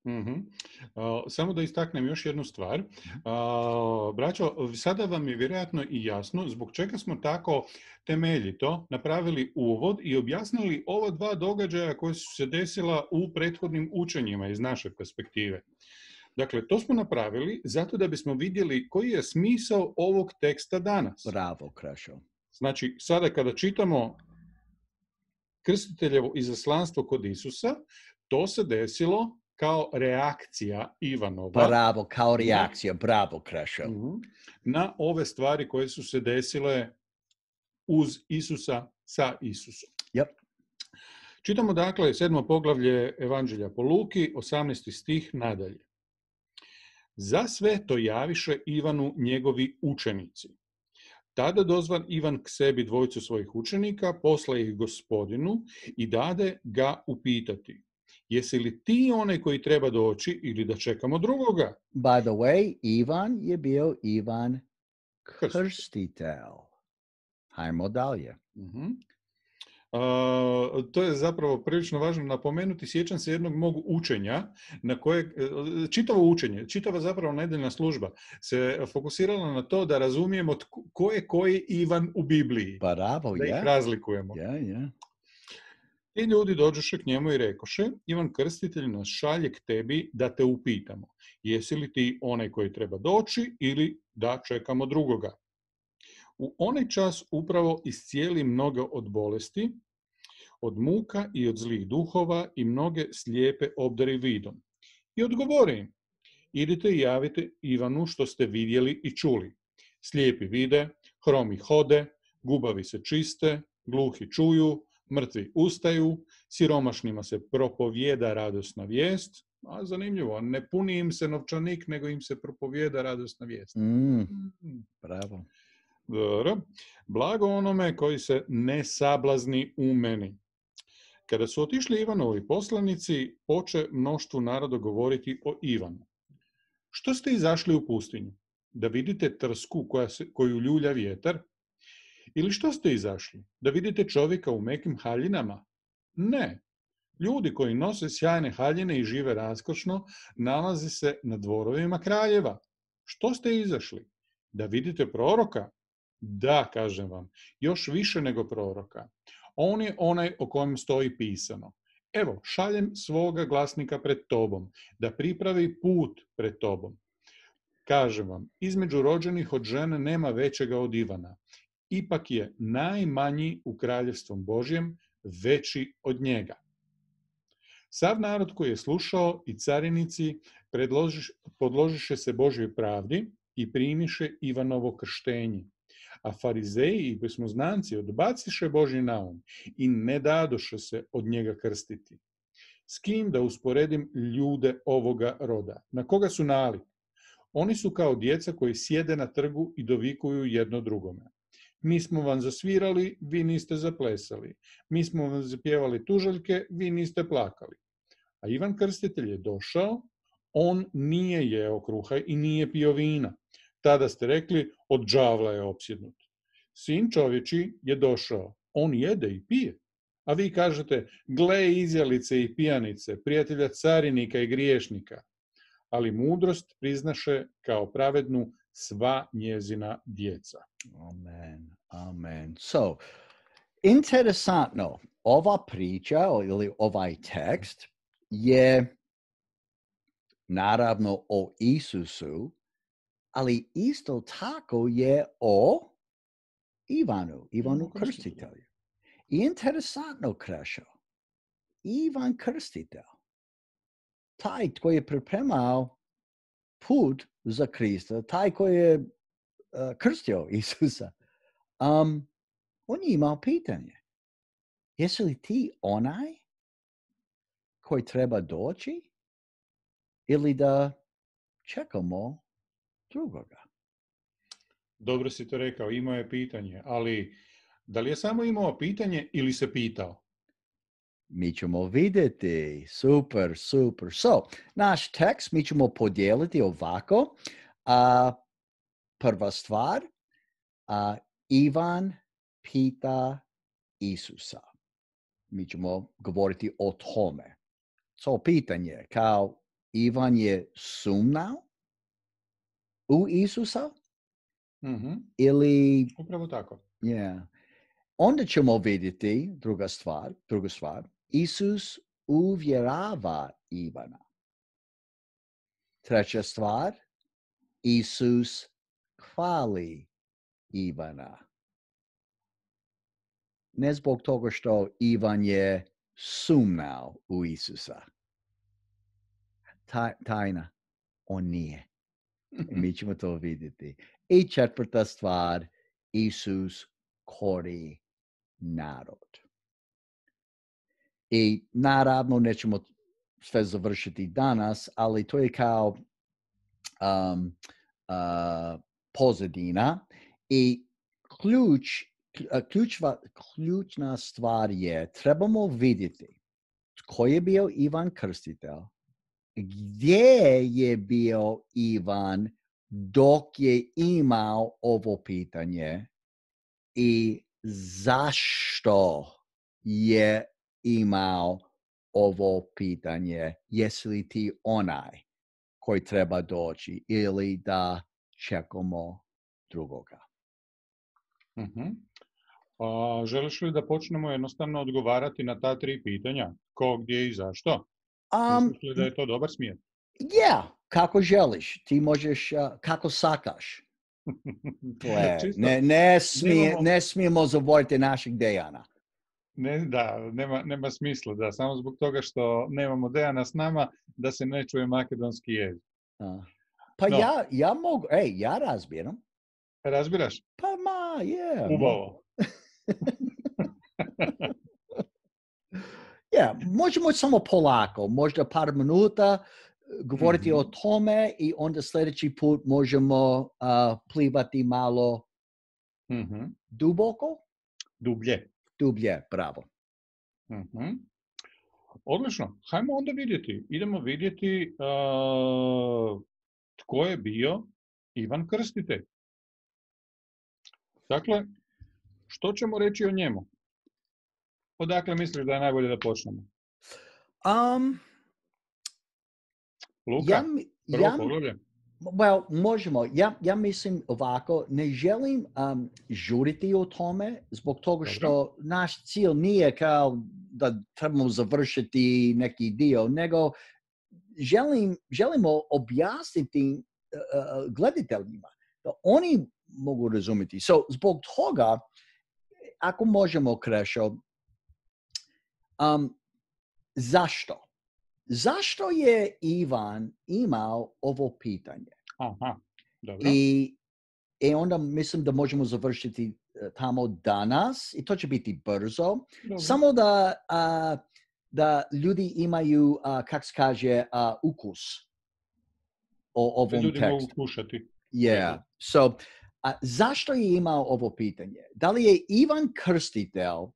Mm-hmm. Uh, samo da istaknem još jednu stvar. Uh, braćo, sada vam je vjerojatno i jasno zbog čega smo tako temeljito napravili uvod i objasnili ova dva događaja koje su se desila u prethodnim učenjima iz naše perspektive. Dakle, to smo napravili zato da bismo vidjeli koji je smisao ovog teksta danas. Bravo, Krešo. Znači, sada kada čitamo krstiteljevo izaslanstvo kod Isusa, to se desilo kao reakcija Ivanova. Bravo, kao reakcija. Bravo, Krešo. Na ove stvari koje su se desile uz Isusa, sa Isusom. Yep. Čitamo dakle sedmo poglavlje Evanđelja po Luki, osamnaesti stih nadalje. Za sve to javiše Ivanu njegovi učenici. Tada dozvan Ivan k sebi dvojicu svojih učenika, posla ih Gospodinu i dade ga upitati. Jesi li ti onaj koji treba doći ili da čekamo drugoga? By the way, Ivan je bio Ivan Krstitelj. Hajmo dalje. Uh-huh. Uh, to je zapravo prilično važno napomenuti. Sjećam se jednog mog učenja, na koje, čitavo učenje, čitava zapravo nedeljna služba se fokusirala na to da razumijemo ko je koji Ivan u Bibliji. Bravo, da ih yeah. razlikujemo. Yeah, yeah. I ljudi dođoše k njemu i rekoše, Ivan Krstitelj nas šalje k tebi da te upitamo. Jesi li ti onaj koji treba doći ili da čekamo drugoga? U onaj čas upravo iscijeli mnoge od bolesti, od muka i od zlih duhova i mnoge slijepe obdari vidom. I odgovori im, idite i javite Ivanu što ste vidjeli i čuli. Slijepi vide, hromi hode, gubavi se čiste, gluhi čuju, mrtvi ustaju, siromašnima se propovijeda radosna vijest, a zanimljivo, ne puni im se novčanik, nego im se propovijeda radosna vijest. Mm, bravo. Dobro. Blago onome koji se ne sablazni u meni. Kada su otišli Ivanovi poslanici, poče mnoštvu naroda govoriti o Ivanu. Što ste izašli u pustinju? Da vidite trsku koja se, koju ljulja vjetar? Ili što ste izašli? Da vidite čovjeka u mekim haljinama? Ne. Ljudi koji nose sjajne haljine i žive raskošno, nalaze se na dvorovima kraljeva. Što ste izašli? Da vidite proroka? Da, kažem vam, još više nego proroka. On je onaj o kojem stoji pisano. Evo, šaljem svoga glasnika pred tobom, da pripravi put pred tobom. Kažem vam, između rođenih od žene nema većega od Ivana. Ipak je najmanji u kraljevstvom Božjem veći od njega. Sav narod koji je slušao i carinici podložiše se Božjoj pravdi i primiše Ivanovo krštenje. A farizeji i pismoznanci odbaciše Božji naum i ne dadoše se od njega krstiti. S kim da usporedim ljude ovoga roda? Na koga su nalik? Oni su kao djeca koji sjede na trgu i dovikuju jedno drugome. Mi smo vam zasvirali, vi niste zaplesali. Mi smo vam zapjevali tužaljke, vi niste plakali. A Ivan Krstitelj je došao, on nije jeo kruha i nije pio vina. Tada ste rekli, od đavla je opsjednut. Sin čovječi je došao, on jede i pije. A vi kažete, gle izjelice i pijanice, prijatelja carinika i griješnika. Ali mudrost priznaše kao pravednu sva njezina djeca. Amen, amen. So, interesantno, ova priča ili ovaj tekst je naravno o Isusu, ali isto tako je o Ivanu, Ivanu Krstitelju. I interesantno, Krešo, Ivan Krstitelj, taj koji je pripremao put za Krista, taj koji je uh, krstio Isusa, um, on je imao pitanje. Jesi li ti onaj koji treba doći ili da čekamo drugoga? Dobro si to rekao, imao je pitanje, ali da li je samo imao pitanje ili se pitao? Mi ćemo vidjeti. Super, super. So, naš tekst mi ćemo podijeliti ovako. A, prva stvar, a, Ivan pita Isusa. Mi ćemo govoriti o tome. So, pitanje, kao Ivan je sumnao u Isusa? Mm-hmm. Ili... Upravo tako. Yeah. Onda ćemo vidjeti, druga stvar, druga stvar, Isus uvjerava Ivana. Treća stvar, Isus hvali Ivana. Ne zbog toga što Ivan je sumnao u Isusa. Taj, tajna, on nije. I mi ćemo to vidjeti. I četvrta stvar, Isus kori narod. I naravno nećemo sve završiti danas, ali to je kao um, uh, pozadina i ključ, ključva, ključna stvar je trebamo vidjeti tko je bio Ivan Krstitelj, gdje je bio Ivan dok je imao ovo pitanje i zašto je imao ovo pitanje. Jesi li ti onaj koji treba doći ili da čekamo drugoga? Uh-huh. A, želiš li da počnemo jednostavno odgovarati na ta tri pitanja? Ko, gdje i zašto? Um, Misliš li da je to dobar smjer? Yeah, kako želiš. Ti možeš, uh, kako sakaš. ne, ne, smije, nemamo... ne smijemo zaboraviti našeg Dejana. Ne, da, nema, nema smisla, da, samo zbog toga što nemamo Dejana s nama, da se ne čuje makedonski jezik. Uh, pa no. ja, ja mogu, ej, ja razbiram. Razbiraš? Pa ma, je. Yeah, Ubavo. Ja, yeah, možemo samo polako, možda par minuta govoriti mm-hmm. o tome i onda sljedeći put možemo uh, plivati malo mm-hmm. duboko? Dublje. Dublje, bravo. Mm-hmm. Odlično. Hajmo onda vidjeti. Idemo vidjeti uh, tko je bio Ivan Krstitelj. Dakle, što ćemo reći o njemu? Odakle misliš da je najbolje da počnemo? Um, Luka, ja, prvo ja, poglavlje. Well, možemo. Ja, ja mislim ovako, ne želim um, žuriti o tome zbog toga što Dobro. Naš cilj nije kao da trebamo završiti neki dio, nego želim, želimo objasniti uh, gledateljima da oni mogu razumjeti. So, zbog toga, ako možemo, Krešo, um, zašto? Zašto je Ivan imao ovo pitanje? Aha, dobro. I E onda mislim da možemo završiti tamo danas i to će biti brzo. Dobro. Samo da, uh, da ljudi imaju, uh, kako se kaže, uh, ukus o ovom Ljudi mogu tekstu. kušati. Yeah. So, uh, zašto je imao ovo pitanje? Da li je Ivan Krstitelj uh,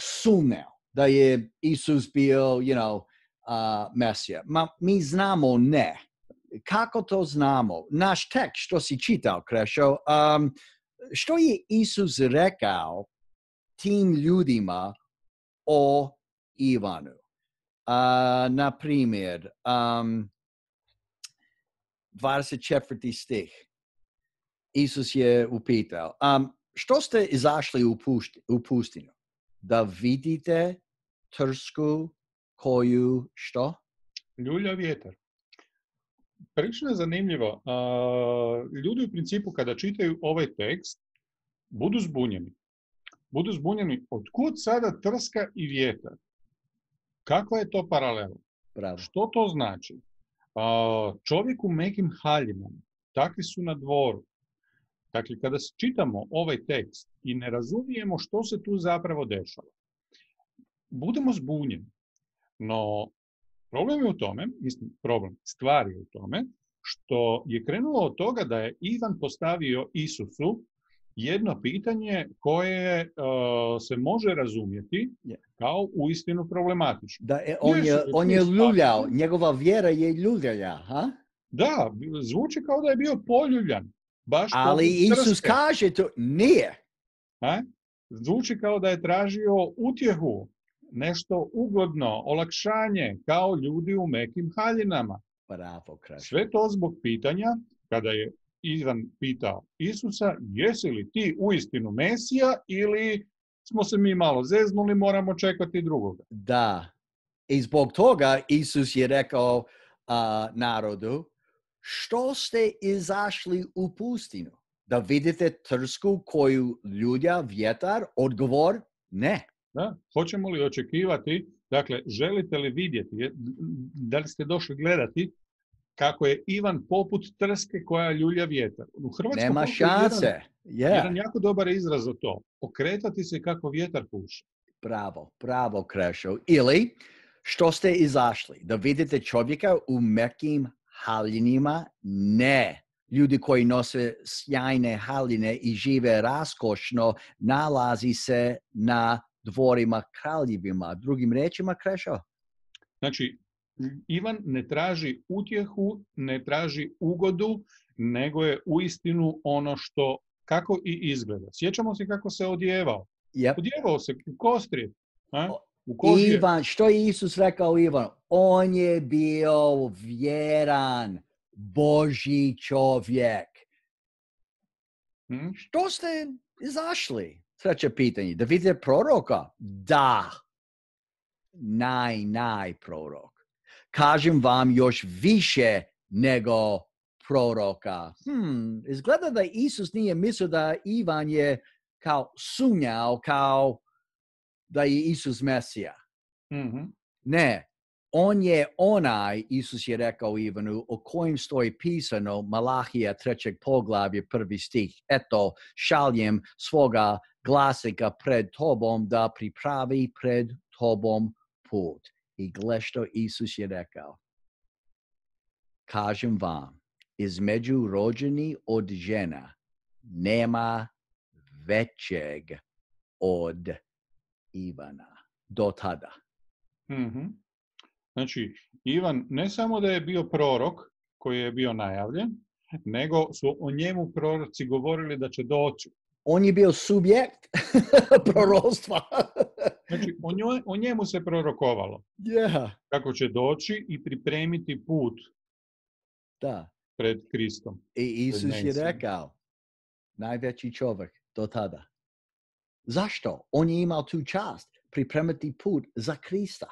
sumnjao da je Isus bio, you know, uh, Mesija? Ma, mi znamo ne. Kako to znamo? Naš tekst što si čitao, Krešo, um, što je Isus rekao tim ljudima o Ivanu? Uh, na primjer, um, dvadeset četvrti stih. Isus je upitao, um, što ste izašli u, pušti, u pustinju? Da vidite trsku koju što? Ljulja vjetar. Prilično je zanimljivo. Uh, ljudi u principu kada čitaju ovaj tekst budu zbunjeni. Budu zbunjeni otkud sada trska i vjetar. Kakva je to paralela? Bravo. Što to znači? Uh, čovjek u mekim haljinama, takvi su na dvoru. Dakle, kada čitamo ovaj tekst i ne razumijemo što se tu zapravo dešava, budemo zbunjeni. No, problem je u tome, mislim, problem, stvar je u tome, što je krenulo od toga da je Ivan postavio Isusu jedno pitanje koje uh, se može razumjeti kao uistinu problematično. Da, je, on, je, on je ljuljao, njegova vjera je ljuljaja, ha? Da, zvuči kao da je bio poljuljan. Baš ali Isus trske. Kaže to, nije. A? Zvuči kao da je tražio utjehu, nešto ugodno, olakšanje, kao ljudi u mekim haljinama. Bravo, Krešo. Sve to zbog pitanja, kada je Ivan pitao Isusa, jesi li ti uistinu Mesija ili smo se mi malo zeznuli, moramo čekati drugoga. Da. I zbog toga Isus je rekao uh, narodu, što ste izašli u pustinu? Da vidite trsku koju ljulja vjetar? Odgovor, ne. Da, hoćemo li očekivati, dakle, želite li vidjeti, da li ste došli gledati kako je Ivan poput trske koja ljulja vjetar? U Hrvatskom nema šanse. Jedan, yeah. jedan jako dobar izraz za to. Okretati se kako vjetar puše. Bravo, bravo, Krešo. Ili, što ste izašli? Da vidite čovjeka u mekim haljinima? Ne. Ljudi koji nose sjajne haljine i žive raskošno nalazi se na dvorima kraljevima. Drugim rečima, Krešo? Znači, Ivan ne traži utjehu, ne traži ugodu, nego je uistinu ono što, kako i izgleda. Sjećamo se kako se odjevao. Yep. Odjevao se u kostrije. Ivan, što je Isus rekao Ivan? On je bio vjeran Božji čovjek. Hmm? Što ste izašli? Treće pitanje. Da vidite proroka? Da. Naj, naj prorok. Kažem vam još više nego proroka. Hmm, izgleda da Isus nije mislio da Ivan je kao sumnjao, kao da je Isus Mesija. Mm-hmm. Ne, on je onaj, Isus je rekao Ivanu, o kojem stoji pisano Malahija trećeg poglavlje prvi stih. Eto, šaljem svoga glasnika pred tobom da pripravi pred tobom put. I gle što Isus je rekao. Kažem vam, između rođeni od žena nema većeg od Ivana do tada. Mm-hmm. Znači, Ivan ne samo da je bio prorok koji je bio najavljen, nego su o njemu proroci govorili da će doći. On je bio subjekt prorostva. Znači, o, njoj, o njemu se prorokovalo. Yeah. Kako će doći i pripremiti put da. pred Kristom. I Isus je rekao, najveći čovjek do tada. Zašto? On je imao tu čast pripremiti put za Krista.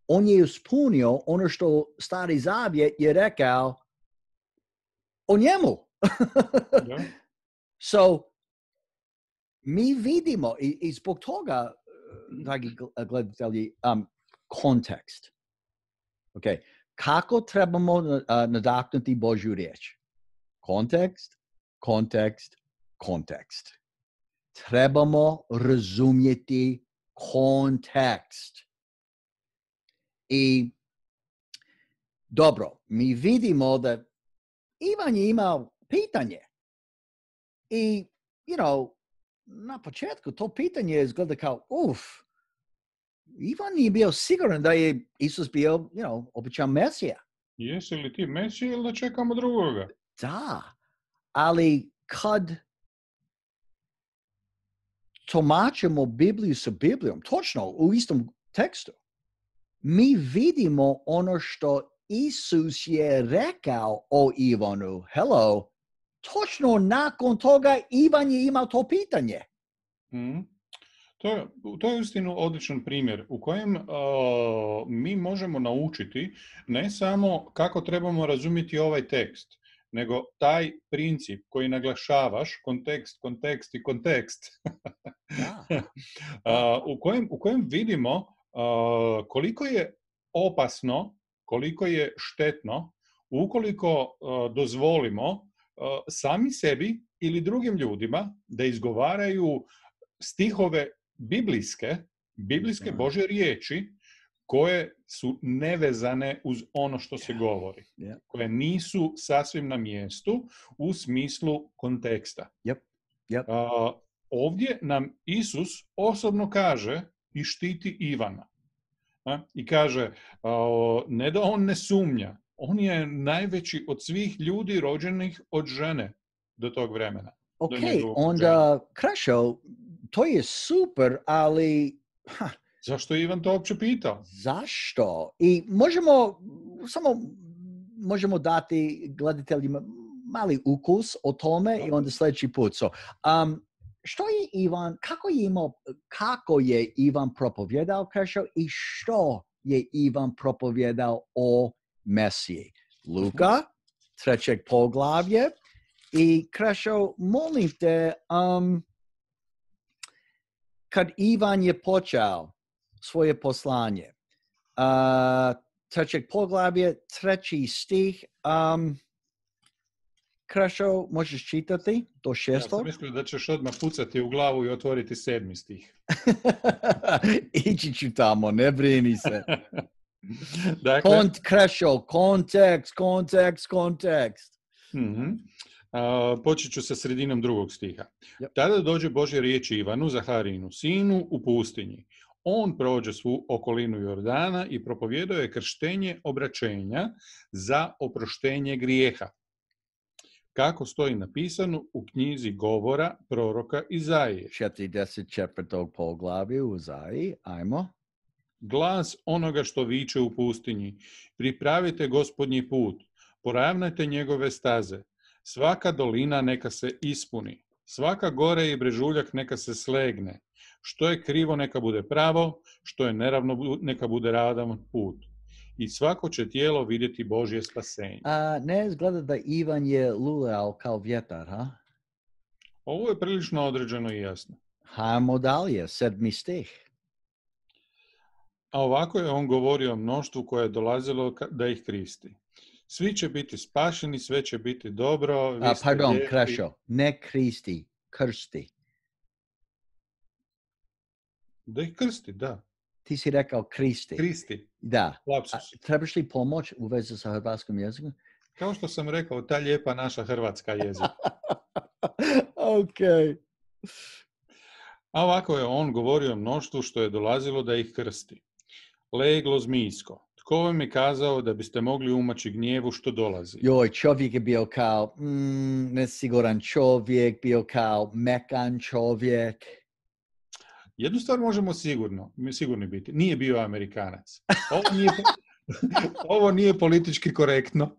On je ispunio ono što Stari Zavjet je rekao o njemu. Yeah. So, mi vidimo i, i zbog toga, dragi gledatelji, um, kontekst. Okay. Kako trebamo uh, nadahnuti Božju riječ? Kontekst, kontekst, kontekst. Trebamo razumjeti kontekst. I dobro, mi vidimo da Ivan je imao pitanje. I, you know, na početku to pitanje izgleda kao, uf, Ivan nije bio siguran da je Isus bio, you know, običan Mesija. Jesi li ti Mesija ili da čekamo drugoga? Da, ali kad tumačimo Bibliju sa Biblijom, točno u istom tekstu, mi vidimo ono što Isus je rekao o Ivanu. Hello, točno nakon toga Ivan je imao to pitanje. Mm. To je, to je uistinu odličan primjer u kojem uh, mi možemo naučiti ne samo kako trebamo razumjeti ovaj tekst, nego taj princip koji naglašavaš, kontekst, kontekst i kontekst, uh, u, kojem, u kojem vidimo uh, koliko je opasno, koliko je štetno ukoliko uh, dozvolimo uh, sami sebi ili drugim ljudima da izgovaraju stihove biblijske, biblijske Božje riječi koje su nevezane uz ono što se govori, Yeah. koje nisu sasvim na mjestu u smislu konteksta. Yep. Yep. Uh, ovdje nam Isus osobno kaže i štiti Ivana. A? I kaže, uh, ne da on ne sumnja, on je najveći od svih ljudi rođenih od žene do tog vremena. Ok, onda Krešo, to je super, ali... Ha, zašto je Ivan to uopće pitao? Zašto? I možemo, samo možemo dati gledateljima mali ukus o tome i onda sljedeći put. So, um, što je Ivan, kako je, imao, kako je Ivan propovjedao, Krešo, i što je Ivan propovjedao o Mesiji? Luka, trećeg poglavlje. I Krešo, molim te, um, kad Ivan je počeo svoje poslanje, uh, trećeg poglavlje, treći stih, um, Krešo, možeš čitati do šestog? Ja sam mislio da ćeš odmah pucati u glavu i otvoriti sedmi stih. Ići ću tamo, ne brini se. Dakle, Kont, Krešo, kontekst, kontekst, kontekst. Mm-hmm. Uh, počet ću sa sredinom drugog stiha. Yep. Tada dođe Božja riječ Ivanu, Zaharinu, sinu, u pustinji. On prođe svu okolinu Jordana i propovjedao je krštenje obraćenja za oproštenje grijeha. Kako stoji napisano u knjizi govora proroka Izaije. četrdeset četvrtog poglavlja u Izaiji, ajmo. Glas onoga što viče u pustinji. Pripravite Gospodnji put, poravnajte njegove staze. Svaka dolina neka se ispuni. Svaka gore i brežuljak neka se slegne. Što je krivo neka bude pravo, što je neravno neka bude ravan put. I svako će tijelo vidjeti Božje spasenje. A ne izgleda da Ivan je lulao kao vjetar, ha? Ovo je prilično određeno i jasno. Hajmo dalje, sedmi stih. A ovako je on govorio o mnoštvu koje je dolazilo da ih kristi. Svi će biti spašeni, sve će biti dobro. Vi A, ste pardon, lijepi. Krešo, ne kristi, krsti. Da ih krsti, da. Ti si rekao kristi. Kristi. Da. Lapsus. A, trebaš li pomoć u vezi sa hrvatskim jezikom? Kao što sam rekao, ta lijepa naša hrvatska jezik. Ok. A ovako je on govorio o mnoštvu što je dolazilo da ih krsti. Leglo zmijsko. Tko vam je kazao da biste mogli umaći gnjevu što dolazi? Joj, čovjek je bio kao mm, nesiguran čovjek, bio kao mekan čovjek. Jednu stvar možemo sigurno, sigurni biti. Nije bio Amerikanac. Ovo nije, ovo nije politički korektno.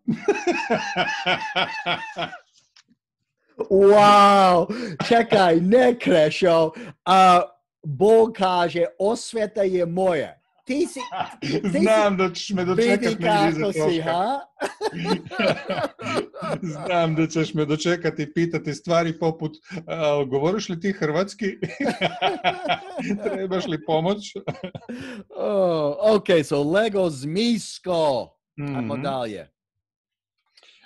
Wow! Čekaj, ne Krešo. A Bog kaže, osveta je moja. Ti si... Ti Znam si, da ćeš me dočekat vidi negdje iza kako si, troška. ha? Znam da ćeš me dočekati i pitati stvari poput uh, govoriš li ti hrvatski? Trebaš li pomoć? Oh, ok, so Lego zmijsko. Mm-hmm. Ajmo dalje.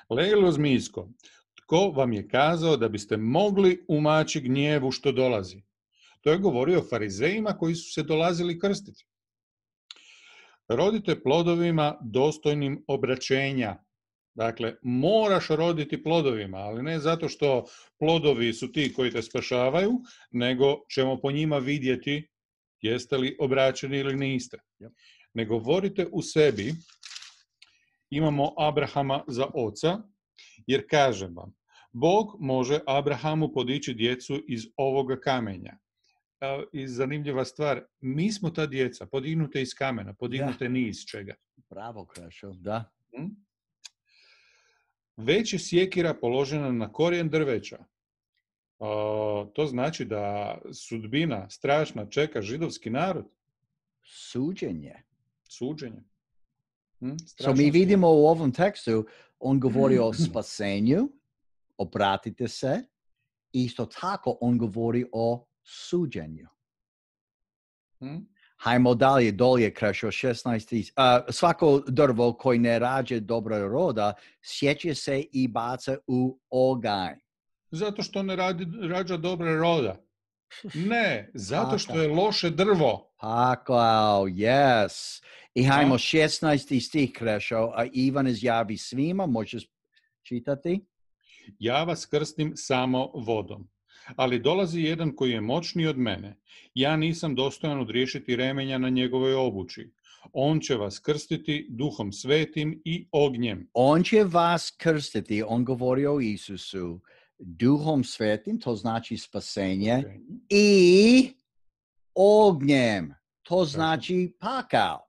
Leglo zmijsko. tko vam je kazao da biste mogli umaći gnjevu što dolazi? To je govorio o farizejima koji su se dolazili krstiti. Rodite plodovima dostojnim obraćenja. Dakle, moraš roditi plodovima, ali ne zato što plodovi su ti koji te spašavaju, nego ćemo po njima vidjeti jeste li obraćeni ili niste. Yep. Ne govorite u sebi, imamo Abrahama za oca, jer kažem vam, Bog može Abrahamu podići djecu iz ovoga kamenja. I zanimljiva stvar, mi smo ta djeca, podignute iz kamena, podignute ni iz čega. Bravo, Krešo, da. Hmm? Već je sjekira položena na korijen drveća. Uh, to znači da sudbina strašna čeka židovski narod. Suđenje. Suđenje. Hmm? So mi vidimo u ovom tekstu, on govori o spasenju, obratite se, isto tako on govori o suđenju. Hmm? Hajmo dalje, dolje, Krešo, šesnaest. Uh, svako drvo koji ne rađe dobra roda, sjeće se i baca u oganj. Zato što ne radi, rađa dobra roda. Ne, zato što je loše drvo. Pakao, yes. I hajmo šesnaesti stih, Krešo, a Ivan izjavi svima, možeš čitati? Ja vas krstim samo vodom. Ali dolazi jedan koji je moćniji od mene. Ja nisam dostojan odriješiti remenja na njegovoj obući. On će vas krstiti duhom svetim i ognjem. On će vas krstiti, on govori o Isusu, duhom svetim, to znači spasenje, okay. I ognjem, to znači pakao.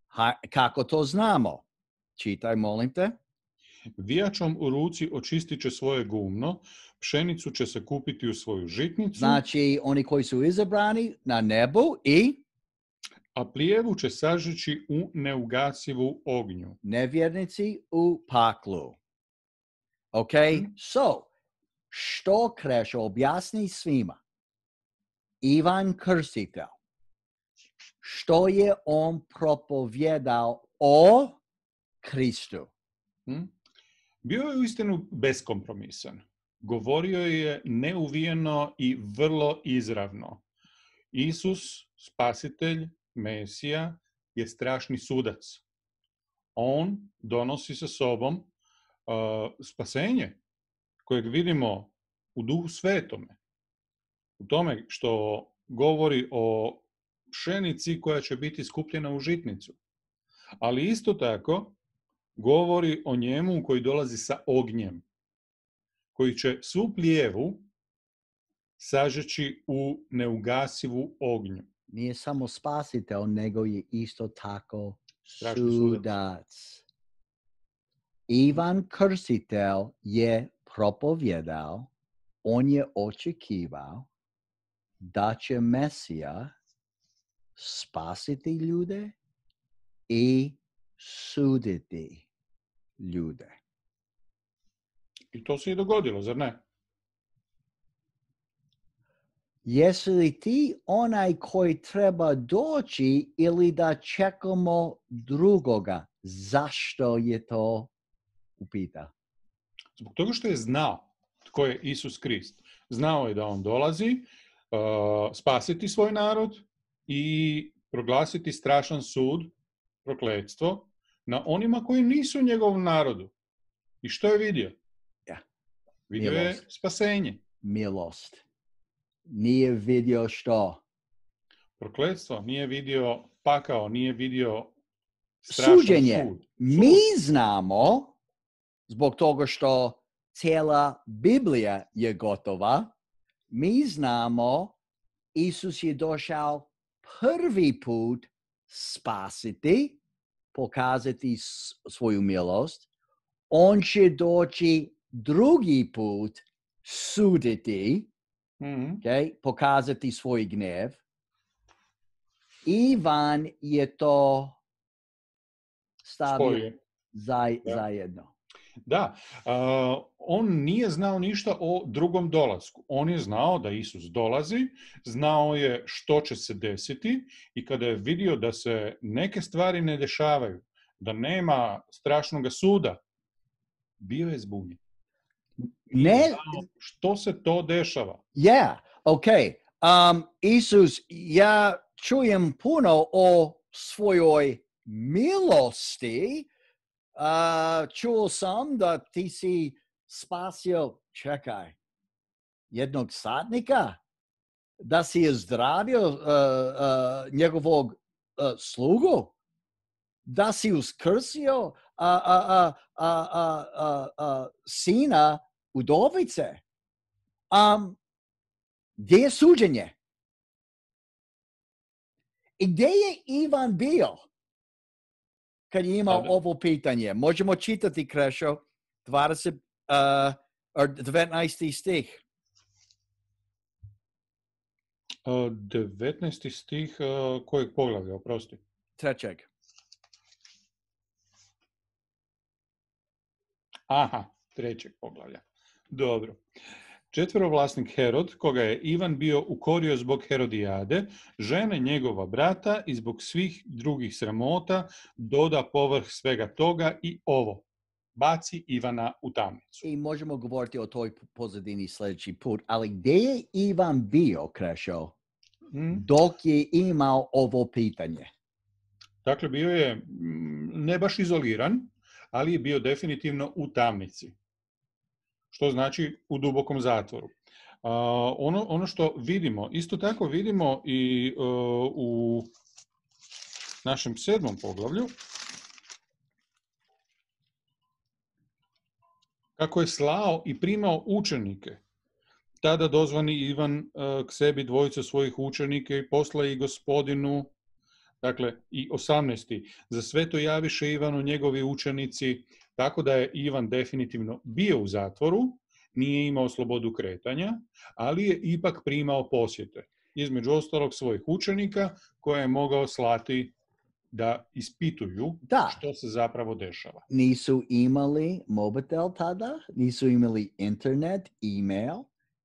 Ha, kako to znamo? Čitaj, molim te. Vijačom u ruci očistit će svoje gumno, pšenicu će se kupiti u svoju žitnicu. Znači, oni koji su izabrani na nebu i? A plijevu će sažeći u neugasivu ognju. Nevjernici u paklu. Ok, hmm. So, što Krešo objasni svima? Ivan Krstitelj, što je on propovjedao o Kristu? Hmm? Bio je uistinu beskompromisan. Govorio je neuvijeno i vrlo izravno. Isus, spasitelj, Mesija, je strašni sudac. On donosi sa sobom uh, spasenje, kojeg vidimo u Duhu Svetome. U tome što govori o pšenici koja će biti skupljena u žitnicu. Ali isto tako govori o njemu koji dolazi sa ognjem, koji će svu plijevu sažeći u neugasivu ognju. Nije samo spasitelj, nego je isto tako Strašni sudac. Ivan Krstitelj je propovjedao, on je očekivao da će Mesija spasiti ljude i suditi ljude. I to se i dogodilo, zar ne? Jesi li ti onaj koji treba doći ili da čekamo drugoga? Zašto je to upita? Zbog toga što je znao tko je Isus Krist. Znao je da on dolazi uh, spasiti svoj narod i proglasiti strašan sud, prokletstvo, na onima koji nisu u njegovom narodu. I što je vidio? Ja. Vidio Milost. je spasenje. Milost. Nije vidio što? Prokletstvo. Nije vidio pakao, nije vidio strašan Suđenje. sud. Mi znamo, zbog toga što cijela Biblija je gotova, mi znamo Isus je došao prvi put spasiti, pokazati svoju milost. On će doći drugi put suditi, mm-hmm. okay, pokazati svoj gnjev. Ivan je to stavio zaj, da. zajedno. Da, uh, on nije znao ništa o drugom dolasku. On je znao da Isus dolazi, znao je što će se desiti i kada je vidio da se neke stvari ne dešavaju, da nema strašnog suda, bio je zbunjen. Ne, što se to dešava? Ja, yeah, ok. Um, Isus, ja čujem puno o svojoj milosti. Uh, čuo sam da ti si spasio, čekaj, jednog satnika, da si je zdravio uh, uh, njegovog uh, slugu, da si uskrsio uh, uh, uh, uh, uh, uh, sina udovice. Um, gdje je suđenje? I gdje je Ivan bio kad je imao Tada. ovo pitanje? Možemo čitati, Krešo, dvadeset, uh, devetnaesti stih. Uh, devetnaesti stih uh, kojeg poglavlja, oprosti? Trećeg. Aha, trećeg poglavlja. Dobro. Četverovlasnik Herod, koga je Ivan bio ukorio zbog Herodijade, žene njegova brata i zbog svih drugih sramota, doda povrh svega toga i ovo. Baci Ivana u tamnicu. I možemo govoriti o toj pozadini sljedeći put, ali gdje je Ivan bio, Krešo, hmm? dok je imao ovo pitanje? Dakle, bio je ne baš izoliran, ali je bio definitivno u tamnici. Što znači u dubokom zatvoru. Uh, ono, ono što vidimo, isto tako vidimo i uh, u našem sedmom poglavlju, kako je slao i primao učenike. Tada dozvani Ivan uh, k sebi dvojica svojih učenika i posla i gospodinu, dakle i osamnaesti. Za sve to javiše Ivanu njegovi učenici, tako da je Ivan definitivno bio u zatvoru, nije imao slobodu kretanja, ali je ipak primao posjete. Između ostalog svojih učenika koje je mogao slati da ispituju da. Što se zapravo dešava. Nisu imali mobitel tada, nisu imali internet, e-mail,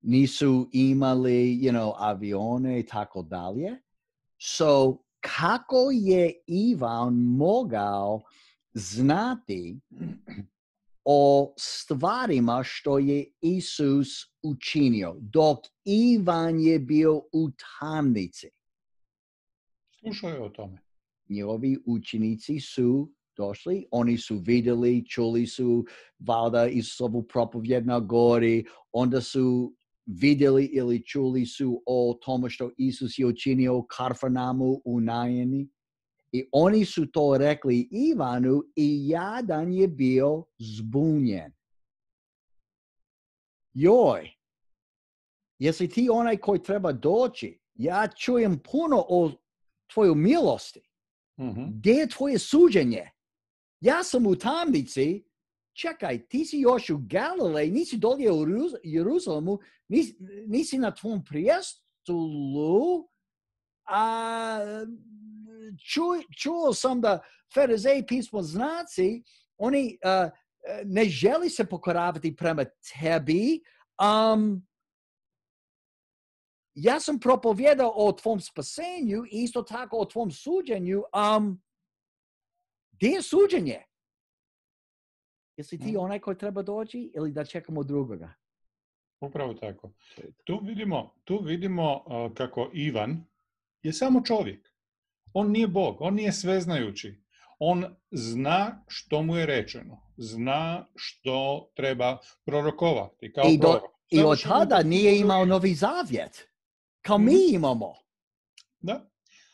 nisu imali, you know, avione i tako dalje. So, kako je Ivan mogao znati o stvarima što je Isus učinio, dok Ivan je bio u tamnici? Slušao je o tome. Njegovi učenici su došli, oni su vidjeli, čuli su valjda Isusovu propovjed na gori, onda su vidjeli ili čuli su o tome što Isus je učinio u Kafarnaumu u Najini. I oni su to rekli Ivanu i jadan je bio zbunjen. Joj, jesi ti onaj koji treba doći? Ja čujem puno o tvojoj milosti. Mm-hmm. Gdje je tvoje suđenje? Ja sam u tamnici. Čekaj, ti si još u Galileji, nisi dolje u Jeruzalemu, nisi, nisi na tvom prijestolu, a ču, čuo sam da farizeji pismoznanci, oni uh, ne želi se pokoravati prema tebi. Um, ja sam propovjedao o tvom spasenju i isto tako o tvom suđenju. Um, gdje je suđenje? Jesi ti onaj koji treba doći ili da čekamo drugoga? Upravo tako. Tu vidimo, tu vidimo uh, kako Ivan je samo čovjek. On nije Bog, on nije sveznajući. On zna što mu je rečeno. Zna što treba prorokovati. Kao I, do, prorok. i od tada nije imao Novi Zavjet. Kao mi imamo. Da.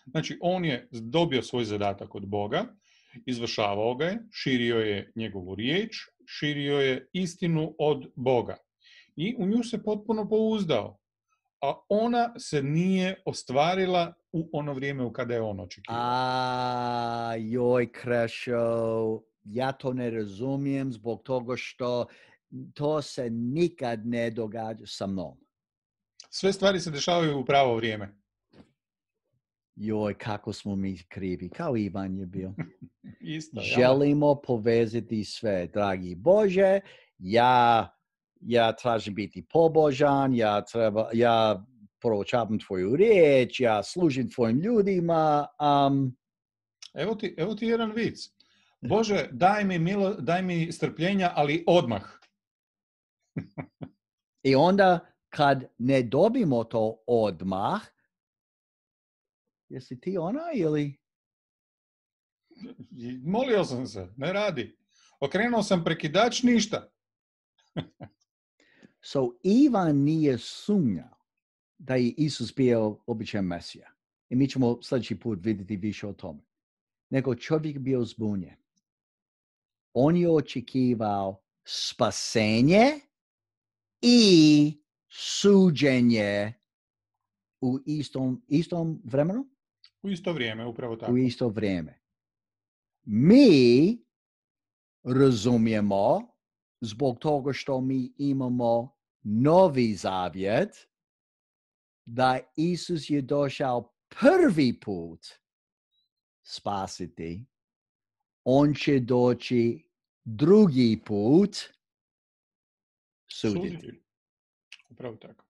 Znači, on je dobio svoj zadatak od Boga, izvršavao ga je, širio je njegovu riječ, širio je istinu od Boga. I u nju se potpuno pouzdao. A ona se nije ostvarila u ono vrijeme u kada je on očekivao. A, joj, Krešo, ja to ne razumijem zbog toga što to se nikad ne događa sa mnom. Sve stvari se dešavaju u pravo vrijeme. Joj, kako smo mi krivi, kao Ivan je bio. Isto, Želimo ja. povezati sve, dragi Bože, ja, ja tražim biti pobožan, ja, treba, ja proučavam tvoju riječ, ja služim tvojim ljudima. Um... Evo, ti, evo ti jedan vic. Bože, daj mi, milo, daj mi strpljenja, ali odmah. I onda kad ne dobimo to odmah, jesi ti ona ili? Molio sam se, ne radi. Okrenuo sam prekidač, ništa. So Ivan nije sumnjao da je Isus bio običan Mesija. I mi ćemo sljedeći put vidjeti više o tome. Nego čovjek bio zbunjen. On je očekivao spasenje i suđenje u istom, istom vremenu? U isto vrijeme, upravo tako. U isto vrijeme. Mi razumijemo, zbog toga što mi imamo novi zavjet, da Isus je došao prvi put spasiti. On će doći drugi put suditi. Suditi. Upravo tako.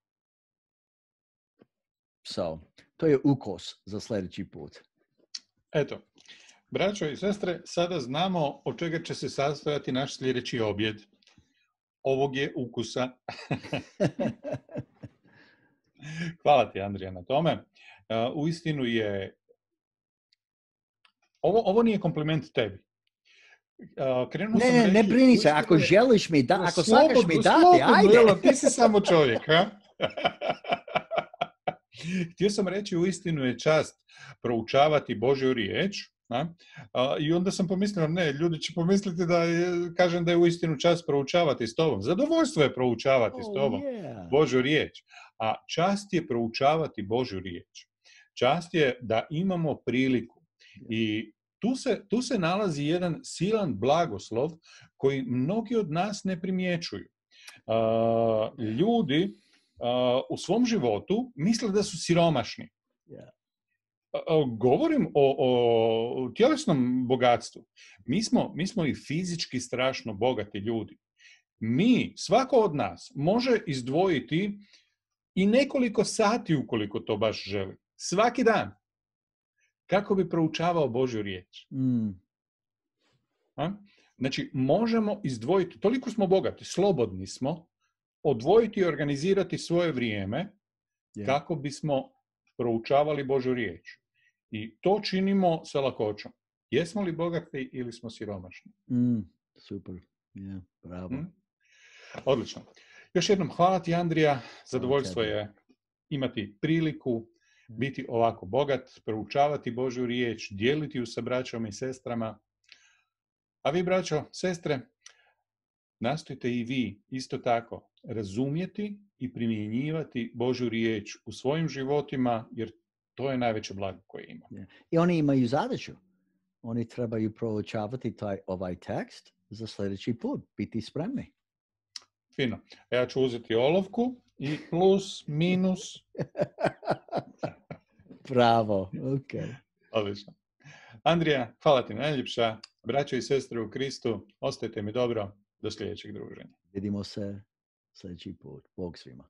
So, to je ukos za sljedeći put. Eto, braćo i sestre, sada znamo od čega će se sastojati naš sljedeći objed. Ovog je ukusa. Hvala ti, Andrija, na tome. Uh, uistinu je... Ovo, ovo nije kompliment tebi. Uh, krenuo ne, sam ne, reći, ne brini se. uistinu Ako je- želiš mi da, ako Slobodno, svakaš mi dati, slobodno, ajde. Elo, ti si samo čovjek, ha? Htio sam reći, uistinu je čast proučavati Božju riječ, a? A, i onda sam pomislio, ne, ljudi će pomisliti da je, kažem da je uistinu čast proučavati s tobom. Zadovoljstvo je proučavati s Oh, tobom yeah. Božju riječ, a čast je proučavati Božju riječ. Čast je da imamo priliku i tu se, tu se nalazi jedan silan blagoslov koji mnogi od nas ne primjećuju. A, ljudi a, u svom životu misle da su siromašni. Yeah. A, a, Govorim o, o tjelesnom bogatstvu. Mi smo, mi smo i fizički strašno bogati ljudi. Mi, svako od nas, može izdvojiti i nekoliko sati ukoliko to baš želi. Svaki dan. Kako bi proučavao Božju riječ. Mm. A? Znači, možemo izdvojiti, toliko smo bogati, slobodni smo, odvojiti i organizirati svoje vrijeme Yeah. kako bismo proučavali Božju riječ. I to činimo sa lakoćom. Jesmo li bogati ili smo siromašni? Mm. Super. Yeah. Bravo. Mm? Odlično. Još jednom hvala ti, Andrija. Zadovoljstvo tebi. je imati priliku biti ovako bogat, proučavati Božju riječ, dijeliti ju sa braćom i sestrama. A vi, braćo, sestre, nastojte i vi isto tako razumjeti i primjenjivati Božju riječ u svojim životima, jer to je najveće blago koje ima. Yeah. I oni imaju zadaću. Oni trebaju proučavati taj, ovaj tekst za sljedeći put. Biti spremni. Fino. Ja ću uzeti olovku i plus, minus. Bravo. Ok. Odlično. Andrija, hvala ti najljepša. Braćo i sestre u Kristu, ostajte mi dobro. Do sljedećeg druženja. Vidimo se sljedeći put. Bog svima.